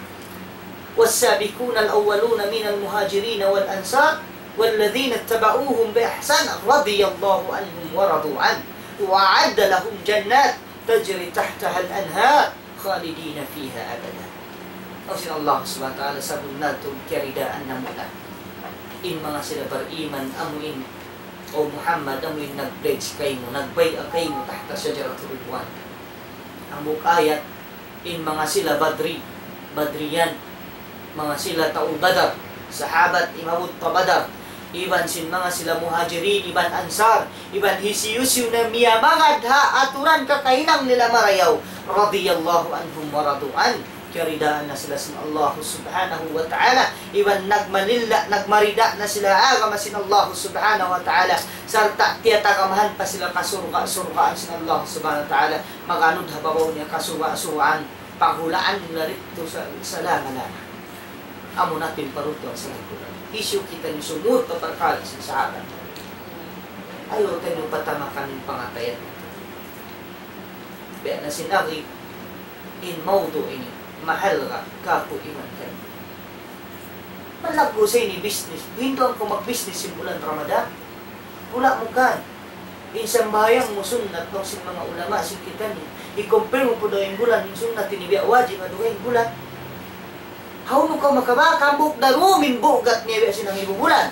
والسابقون الأولون من المهاجرين والأنصار والذين اتبعوهم بإحسان رضي الله عنهم ورضوا عنه وأعد لهم جنات تجري تحتها الأنهار خالدين فيها أبدا. Laung sin Allah Subhanahu wa Ta'ala, sabunnal tuud kiyaridaan namu' na in manga sila bariman, amu in, O Muhammad, amu in nag-pledge kaymu, nagbay'a kaymu تحت شجرة الرضوان. Hambuuk ayat, in manga sila Badri, Badriyan, manga sila tau Badar, sahabat imabut pa Badar, iban sin manga sila Muhajirin, iban Ansar, iban hisiyu-siyu na miyamagad ha aturan kakahinang nila marayaw, رضي الله عنهم ورضوا عنه, kiyaridaan na sila sin Allah Subhanahu wa Ta'ala, iban nagmalilla, nagmarida na sila ha agama sin Allah Subhanahu wa Ta'ala, sarta' tiyatagamahan pa sila kasurga'-surgaan sin Allah Subhanahu wa Ta'ala, maganud ha babaw niya kasurga'-surgaan, paghulaan nila didtu sa-, salama-lama. Amu na in paruntuan sa nagkulang. Hisiyu kitaniyu sumud pa parkala' sin sahabat? Ayaw taniyu patamakan in pangatayan. Biya' na sin agi, in mawdu' ini, mahalga' kāku' iban kaymu. Malaggu' sa ini business. Hinduan kaw mag-business sin bulan Ramadan. Wala' mu kan. In sambahayang mu sunnat, laung sin manga ulama sin kitaniyu. I-compare mu pa dayn bulan, in sunnat ini biya' wajib, adu in bulan. Hawnu kaw makabak, hambuuk da dum in bugat niya biya' sin hangibu bulan.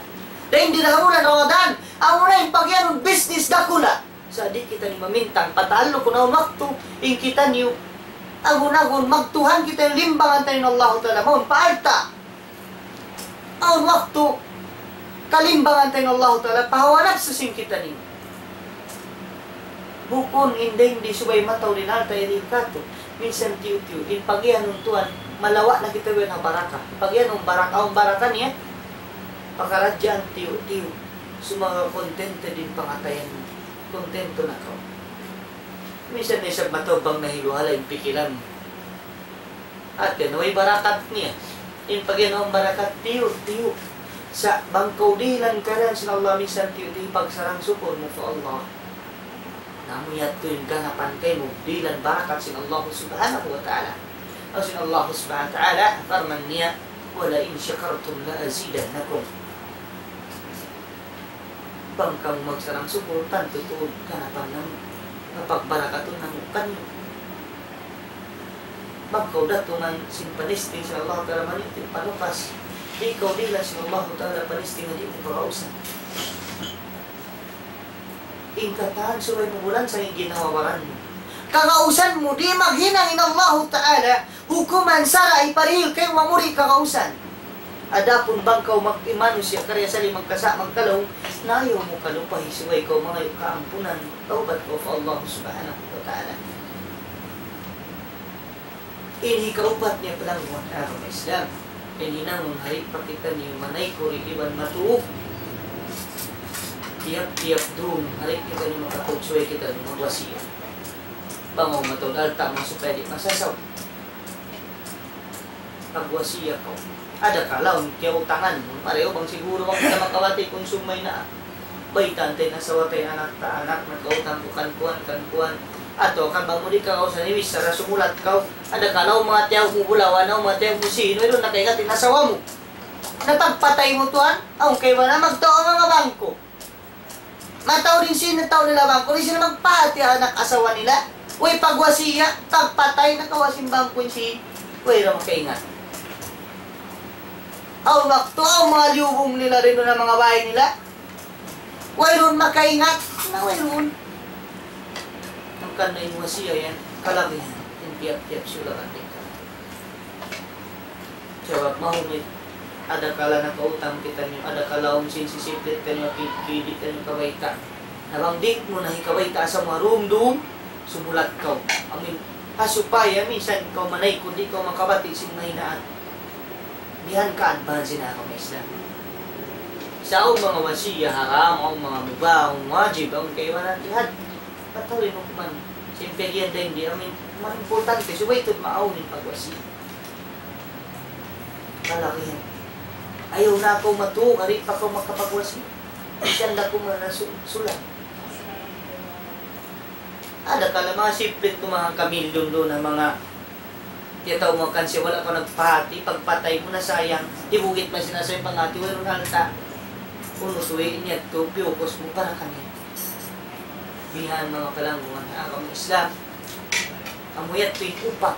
Dayn di na bulan Ramadan, amu na in pagiyanun business dakula'. Sa' di' kitaniyu mamintang, pataallu kunu' awn waktu, in kitaniyu, agun-agun, magtuhan kitaniyu, limbangan taniyu in Allahu Ta'ala, mawn pa alta'. Awn waktu, kalimbangan taniyu in Allahu Ta'ala, pa hawa napsu sin kitaniyu. Bukun in dayng di subay mataud in alta' dihil kātu', minsan tiyu'-tiyu', in pagiyanun tuwan, malawa' na kita biya' na baraka. Pagiyanun baraka, awn baraka niya, pakaradjaan tiyu'-tiyu', sumagawa' contented in pangatayan mu. Kontento na kaw. Minsan na isab mataud bang nahiluhala' in pikilan mu. Hati niya, way barakat niya. In pagiyanun barakat, tiyu'-tiyu'. Sa' bang kaw dihilan karian sin Allah minsan tiyu'-tiyu', pagsarang-sukul mu pa Allah. Na amu yadtu in ganapan kaymu, dihilan barakat sin Allah Subhanahu wa Ta'ala. Laung sin Allah Subhanahu wa Ta'ala, parman niya, وَلَئِن شَكَرْتُمْ لَأَزِيدَنَّكُمْ. Bang kamu magsarang-sukul, tantu tuud ganapan namu', kapagbarakatun namu' kaniyu. Bang kaw datungan sin panisting sin Allah Ta'ala, maniting panukas, di' kaw dihilan sin Allah Ta'ala panisting, di' mu kagausan. In katan subay mu bulansa in ginhawa-baran mu. Kagausan mu, di' maghinang in Allahu Ta'ala, hukuman sara' hiparihil kaymu, amu di' kagausan. Adapun bang kaw mag-, manusiya' kariasali magkasa' magkalaung, na ayaw mu kalupahi subay kaw mangayu' kaampunan, tawbat kaw pa Allah Subhanahu wa Ta'ala. In hikaupat niya palangguan ha agama Islam. In hinangun ha di' pa kitaniyu manaykud iban matuug. Tiyap-tiyap dum ha di' kitaniyu makatuug subay kitaniyu magwasiya. Bang awn mataud alta' mu supaya di' masasaw. Magwasiya kaw. Adakala awn kiyautangan mu. Pareho bang siguru bang kita makabati kung sumay na. Baytaan ta in asawa ta, in anak ta, anak, nagkautang ku kan kuwan, kan kuwan. Atawa kan bang mu di' kagausan, imbis sara sumulat kaw. Adakala awn manga tiyaw mu bulawan, awn manga tiyaw mu sīn, wayruun na kaingatan in asawa mu. Na pagpatay mu tuwan, awn kaibanan magtau manga bangko. Mataud in sīn, tau nila bangko, di' sila magpahāti anak asawa nila. Way pagwasiya, pagpatay na kawa' sin bangko in sīn. Way ra makaingat. Awn waktu, awn manga liyubung nila dayn duun ha manga bāy nila. Wayruun makaingat. Na wayruun. Hangkan na in wasiya yan, kalagihan. In tiyap-tiyap sila katika. Sabab mahunit, adakala nakautang kitaniyu, adakala awn sin sisiplit taniyu, ki-, ki-, di' taniyu kabayta'. Na bang di' mu na hikabayta' sa marumdum, sumulat kaw. Amin, ha supaya minsan kaw manaykud, di' kaw makabati' sin mahinaan. Bihan ka advance na kaw, Islam. Sa' awn manga wasiya haram, awn manga mubah, awn wajib, awn kaibanan jihad. Batal in hukman. Sin piyagiyan dayn di, amin, ma-, importante, subay tuud maawn in pagwasiya. Kalagihan. Ayaw na kaw matug, di' pa kaw makapagwasiya. Minsan da kuman na su-, sulat. Adakala manga siplit tu manga kamilyon duun na manga tiyatau mu kan siya, wala' kaw nagpahāti, pagpatay mu na sayang, hibugit man sin asal panghāti, wayruun alta'. Unu suwi niya tu, piyukus mu para kaniya. Bihan manga palanggungan ha agama Islam. Amu yadtu in upat.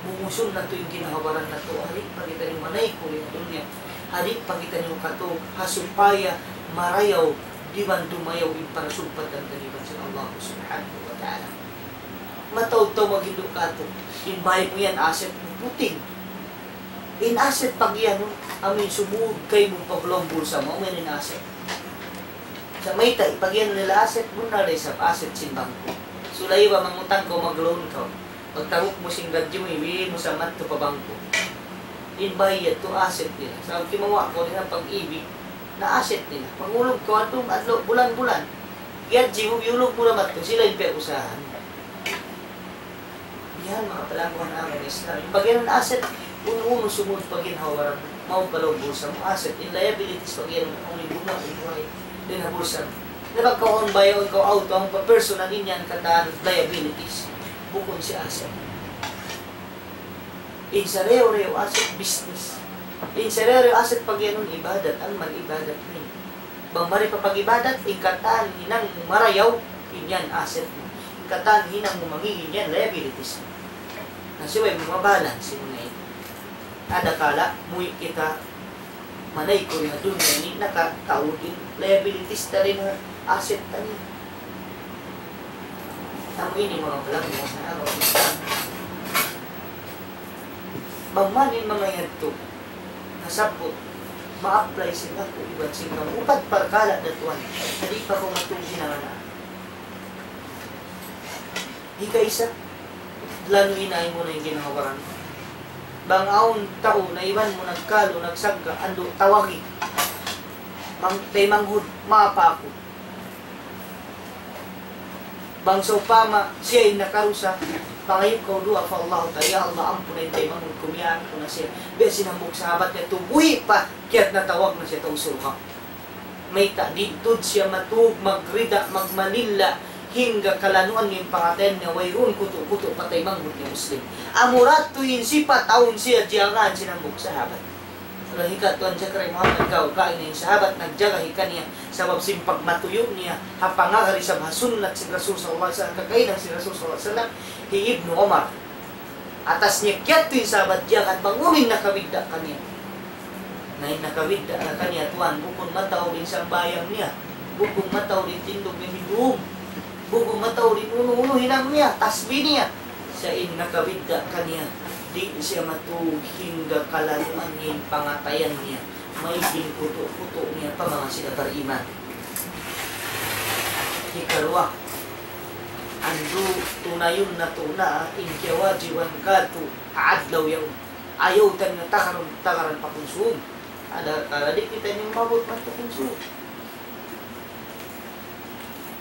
Bungusun natu' in ginhawa-baran natu', ha di' pa kitaniyu manaykud ha dunya, ha di' pa kitaniyu katug, ha supaya marayaw, di' man dumayaw in parasugpatan taniyu iban sin Allah Subhanahu wa Ta'ala. Mataud tau maghindu' katu', in bāy mu yan asset mu puting. In asset pagiyanun, amu in sumūd kaymu pa lawm bulsa mu, amu yan in asset. Sa' mayta', pagiyanun nila asset, bunnal da isab asset sin bangko. Sulay ba mangutang kaw, mag-loan kaw. Pagtabuk mu sin gadji mu, iwi mu sa madtu pa bangko. In bāy yadtu asset nila. Sa' kimawa' kaw nila pag-ibig, na asset nila. Pag-ulug kaw, adlaw, adlaw, bulan-bulan. Gadji mu, iyulug mu na madtu, sila in piyag-usahan. Yan, manga palanggungan ha agama Islam. In pagiyanun asset, unu-unu sumūd pa ginhawa-baran, mawn pa lawm bulsa mu, asset. In liabilities pagiyanun, amu in gumuwa' in buhay dayn ha bulsa mu. Na bang kaw awn bāy, awn kaw auto, awn pa personal, in yan katan liabilities. Bukun siya asset. In sarayaw-rayaw asset, business. In sarayaw-rayaw asset pagiyanun ibadat, amal ibadat ini. Bang mari pa pag-ibadat, in katan hinang mu marayaw, in yan asset mu. In katan hinang mu mangī', in yan liabilities mu. Na subay mu mabalance in yan. Adakala, muwi' kita manaykud ha dunya ini, nakataud in liabilities ta dayn ha asset ta ini. Amu ini manga palanggungan ha agama Islam. Bang man in manga yadtu nasabbut, ma-apply sin aku iban sin kamu. Upat parkala' da tuwan. Di' pa kaw matug hinangan. Hikaisa, lanuy na in muna in ginhawa-baran. Bang awn tau na iban mu nagkalu, nagsagga', andu' tawagi. Bang taymanghud, maapa aku. Bang sawpama siya in nakarusa, pangayup kaw duwaa pa Allah Ta'ala, "Ya Allah, ampuna in taymanghud ku, miyaak ku na siya." Biya' sin hambuuk sahabat yadtu, buhi' pa, kiyat natawag na siya tau surga'. Mayta', di' tuud siya matug, magrida, magmalilla, hangga kalanuan niya in pangatayan niya, wayruun kutu'-kutu' pa taymanghud niya Muslim. Amura tuud in sipat awn siya diyagahan sin hambuuk sahabat. Laung hi Tuan Zakariya Muhammad, kaw, kaina in sahabat nagjaga hi kaniya, sabab sin pagmatuyu' niya ha pangagad isab ha sunnat sin Rasul sallallahu alayhi wasallam, kakahinang sin Rasul sallallahu alayhi wasallam, hi Ibnu Umar. Atas niya kiyadtu in sahabat diyaak, bang unu in nakabidda' kaniya. Na in nakabidda' na kaniya, tuwan, bukun mataud in sambahayang niya, bukun mataud in tindug niya hinduun, bukun mataud in unu-unu hinang niya, tasbih niya. Sa' in nakabidda' kaniya, di' siya matug hangga kalanuan niya in pangatayan niya, maig in kutu'-kutu' niya pa manga sila bariman. Hikaruwa, andu' tunayun natu' na in kiyawajiban kātu' ha adlaw yaun. Ayaw ta na tagaran, tagaran pa kunsum. Adakala di' kitaniyu maabut madtu kunsum.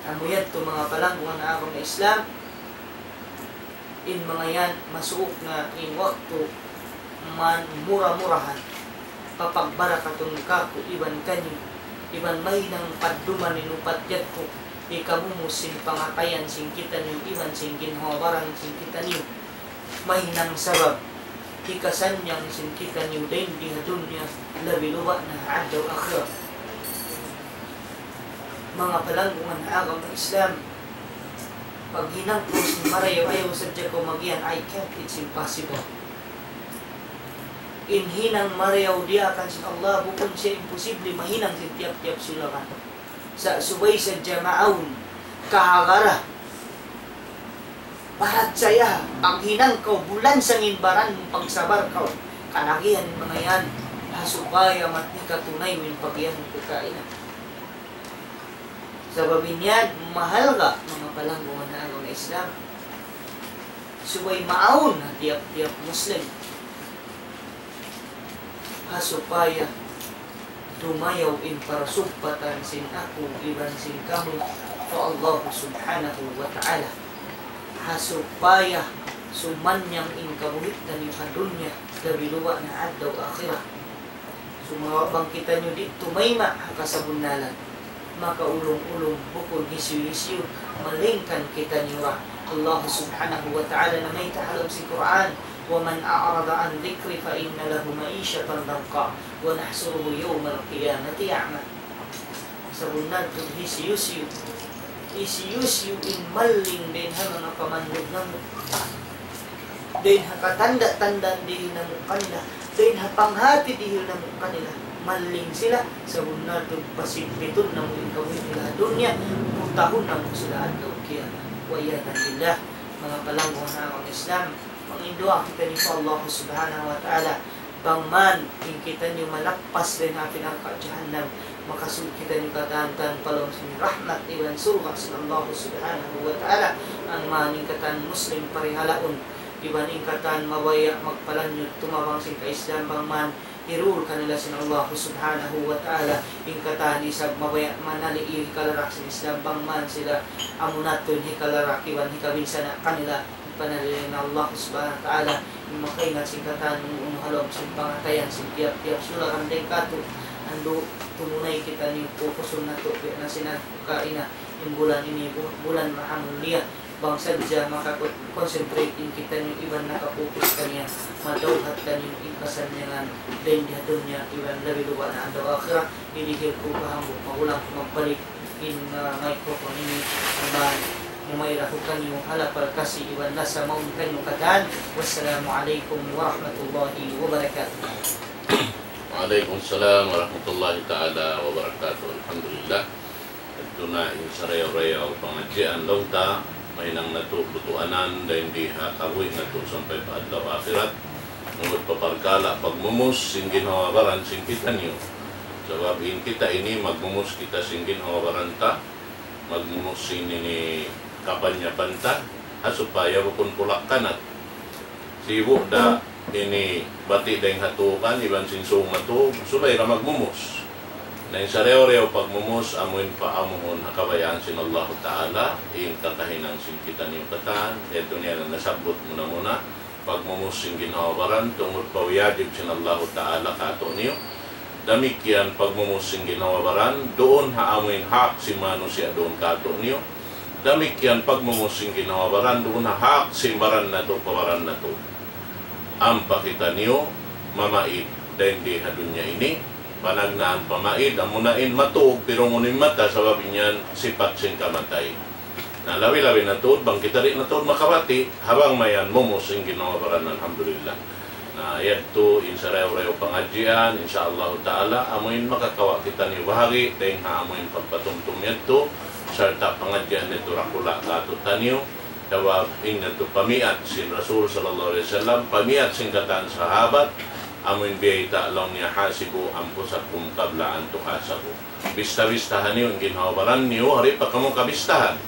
Amu yadtu manga palanggungan ha agama Islam, in manga yan, masuuk na in waktu man mura-murahan, papagbarakatun kāku' iban kaniyu, iban mahinang padduman in upat yadtu, hikamumus sin pangatayan sin kitaniyu, iban sin ginhawa-baran sin kitaniyu, mahinang sabab hikasannyang sin kitaniyu dayn di ha dunya, labi luba' na ha adlaw akhirat. Manga palanggungan ha agama Islam, paghinang ku sin marayaw, ayaw sadja kaw magiyan, "I can't, it's impossible." In hinang marayaw diyaak sin Allah, bukun siya imposible mahinang sin tiyap-tiyap sulakan. Sa' subay sadja maawn kahagara, parachaya, paghinang kaw, bulan sangin baran mu, pagsabar kaw, kalagihan mu na yan, ha supaya matni katunay mu in pag'iyanun kakaina. Sabab in yan, mahalga', manga palanggungan ha agama Islam. Subay maawn ha tiyap-tiyap Muslim. Ha supaya dumayaw in parasumpatan sin aku iban sin kamu pa Allah Subhanahu wa Ta'ala. Ha supaya sumanyang in kabuhi' taniyu ha dunya, labi luba' na adlaw akhirat. Sumagawa' bang kitaniyu di' tumayma' ha kasabunnalan, makaulung-ulung bukun hisiyu-hisiyu, malaingkan kitaniyu ra. Allah Subhanahu wa Ta'ala namayta' ha lawm sin Qur'an, وَمَنْ أَعْرَضَ عَنْ ذِكْرِي فَإِنَّ لَهُ مَعِيشَةً ضَنْكًا وَنَحْشُرُهُ يَوْمَ الْقِيَامَةِ أَعْمَىٰ. Sabunnal tuud hisiyu-siyu, hisiyu-siyu in malling dayn ha manga pamandug namu', dayn ha katanda'-tanda' dihil namu' kanila, dayn ha panghati dihil namu' kanila, malling sila, sabunnal tuud pasigpitun namu' in kabuhi' nila ha dunya, butahun namu' sila adlaw kiyamat. وَالْعِيَاذُ بِاللَّهِ. Manga palanggungan ha agama Islam, manginduwaa kitaniyu pa Allah Subhanahu wa Ta'ala, bang man in kitaniyu malappas dayn ha api narka' jahannam, makasud kitaniyu katan-katan pa lawm sin rahmat iban surga' sin Allah Subhanahu wa Ta'ala. Bang man in katan Muslim parihalaun, iban in katan mabaya' magpalanjut tumabang sin ka-Islam, bang man hirul kanila sin Allah Subhanahu wa Ta'ala, in katan isab mabaya' manali' hikalarak sin Islam, bang man sila amu na tuud in hikalarak iban hikabinsana' kanila, panalian Allah Subhanahu wa Ta'ala, in makaingat sin katan unu-unu ha lawm sin pangatayan sin tiyap-tiyap sulakan dayn kātu', andu' tumunay kitaniyu pupusun natu', biya' na sin kaina, in bulan ini bu-, bulan mahamulliya, bang sadja maka-concentrate in kitaniyu iban nakapukus kaniya, madawhat taniyu in kasannyangan dayn di ha dunya iban labi luba' na adlaw akhirat. Ini hilku pa hambuuk magulang magbalik in, ah, microphone ini, amban humayra hu kaniyu ha lapal kasi iban lasa mawn kaniyu katan. Wassalamu alaykum warahmatullahi wabarakatuh. Wa alaykum salam warahmatullahi ta'ala wabarakatuh. Alhamdulillah. Yadtu na in sarayaw-rayaw pangadjian laung ta, mahinang natu' butuanan, dayn di ha kabuhi' natu' sampay pa adlaw akhirat. Tungud pa parkala' pagmumus sin ginhawa-baran sin kitaniyu. Sabab in kita ini magmumus kita sin ginhawa-baran ta, magmumus sin ini kapanyapan ta, ha supaya bukun pulak-kanat. Sibu' da ini bati' dayn ha tukan iban sin sūng matug, subay da magmumus. Na in sarayaw-rayaw pagmumus, amuin paamuhun ha kabayaan sin Allahu Ta'ala, in kakahinang sin kitaniyu katan, yadtu niya na nasabbut muna-muna, pagmumus sin ginhawa-baran, tungud pa wajib sin Allahu Ta'ala kātu'niyu. Damikkiyan pagmumus sin ginhawa-baran, duun ha amuin hak sin manusiya' duun kātu'niyu. Damikkiyan pagmumus sin ginhawa-baran, duun ha hak sin baran natu', pa baran natu'. Ampa kitaniyu mamaid dayn di ha dunya ini, panagnaan pamaid, amuna in matug, pirungun in mata, sabab in yan sipat sin kamatay. Na labi-labi na tuud, bang kita di' na tuud makabati', ha bang mayan mumus in ginhawa-baran, alhamdulillah. Na yadtu in sarayaw-rayaw pangadjian, insya Allahu Ta'ala, amuin makakawa' kitaniyu bahagi', dayn ha amuin pagpatumtum yadtu, sarta' pangadjian yadtu dakula' kātu'niyu, sabab in yadtu pamiyat sin Rasul sallallahu alayhi wasallam, pamiyat sin katan sahabat, amuin biyayta' laung niya, حاسبوا أنفسكم قبل أن تحاسبوا. Bista-bistahan niyu in ginhawa-baran niyu, di' pa kamu kabistahan.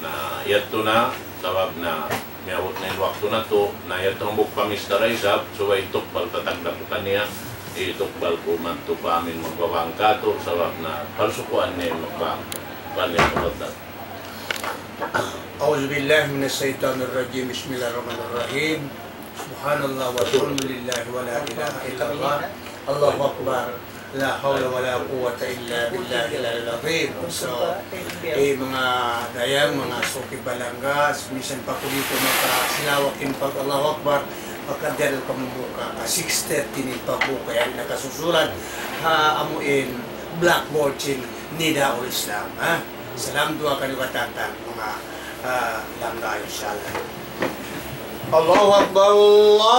Na, yadtu na, sabab na, miyabut na in waktu natu', na yadtu hambuuk pamista da isab, subay tukbal pa tagdapu kaniya, itukbal ku madtu pa amin magbabang kātu', sabab na, parsukuan niya magbang. Fal yatafaddal. أعوذ بالله من الشيطان الرجيم. بسم الله الرحمن الرحيم. سبحان الله والحمد لله ولا إله إلا الله. الله أكبر. لا حول ولا قوة إلا بالله العلي العظيم. So, eh, manga dayang, manga suki balangga, misan pa ku di' ku makasilawak in pag-Allahu Akbar, makadiyal kamu buka, ka six thirty in pagbuka, yan nakasusulan, ha, amu in blackboard sin Nidaul Islam, ha? Salam duwaa kaniyu katan, manga, ah, langga, insya Allah. الله أكبر، الله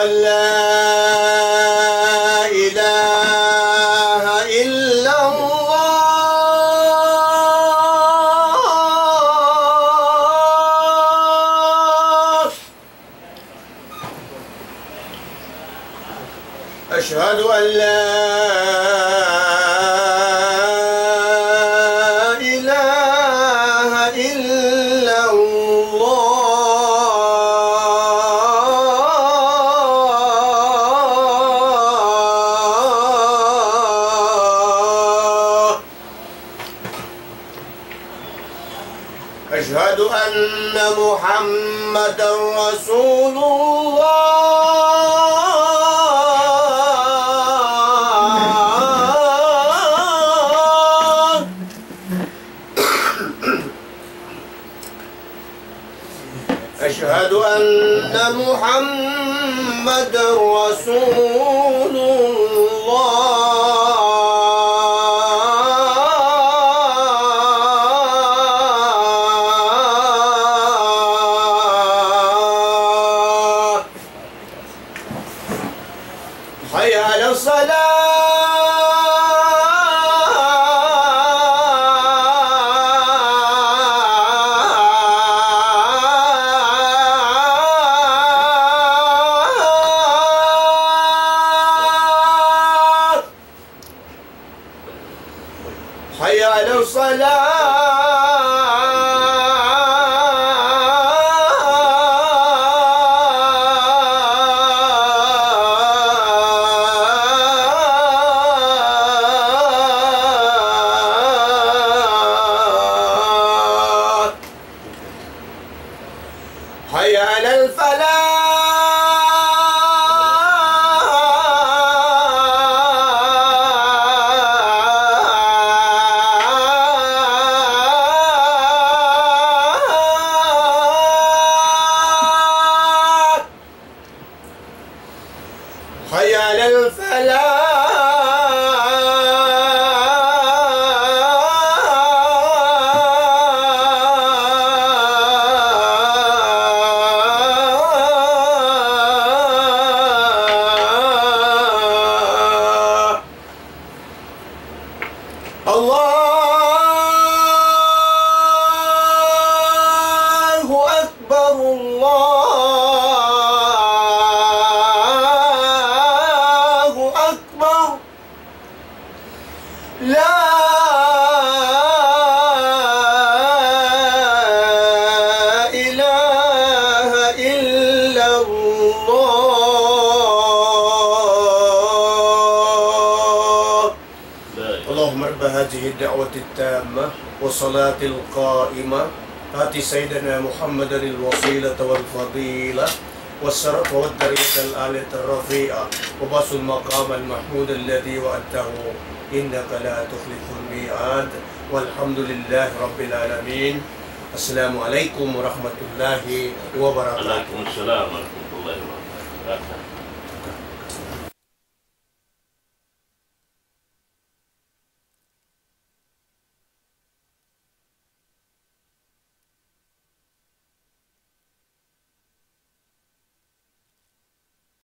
أن لا إله إلا الله. أشهد أن لا إله إلا الله. أشهد أن محمدا رسول الله. أشهد أن محمدا رسول الله. حي على الصلاة. حي على الصلاة. حي على الفلاح. حي على الفلاح. الله أكبر، الله أكبر. لا إله إلا الله. اللهم رب هذه الدعوة التامة والصلاة القائمة، آت سيدنا محمدا الوسيلة والفضيلة والشرف والدرجة العالية الرفيعة وابعثه المقام المحمود الذي وعدته إنك لا تخلف الميعاد. والحمد لله رب العالمين. السلام عليكم ورحمة الله وبركاته. وعليكم السلام ورحمة الله وبركاته.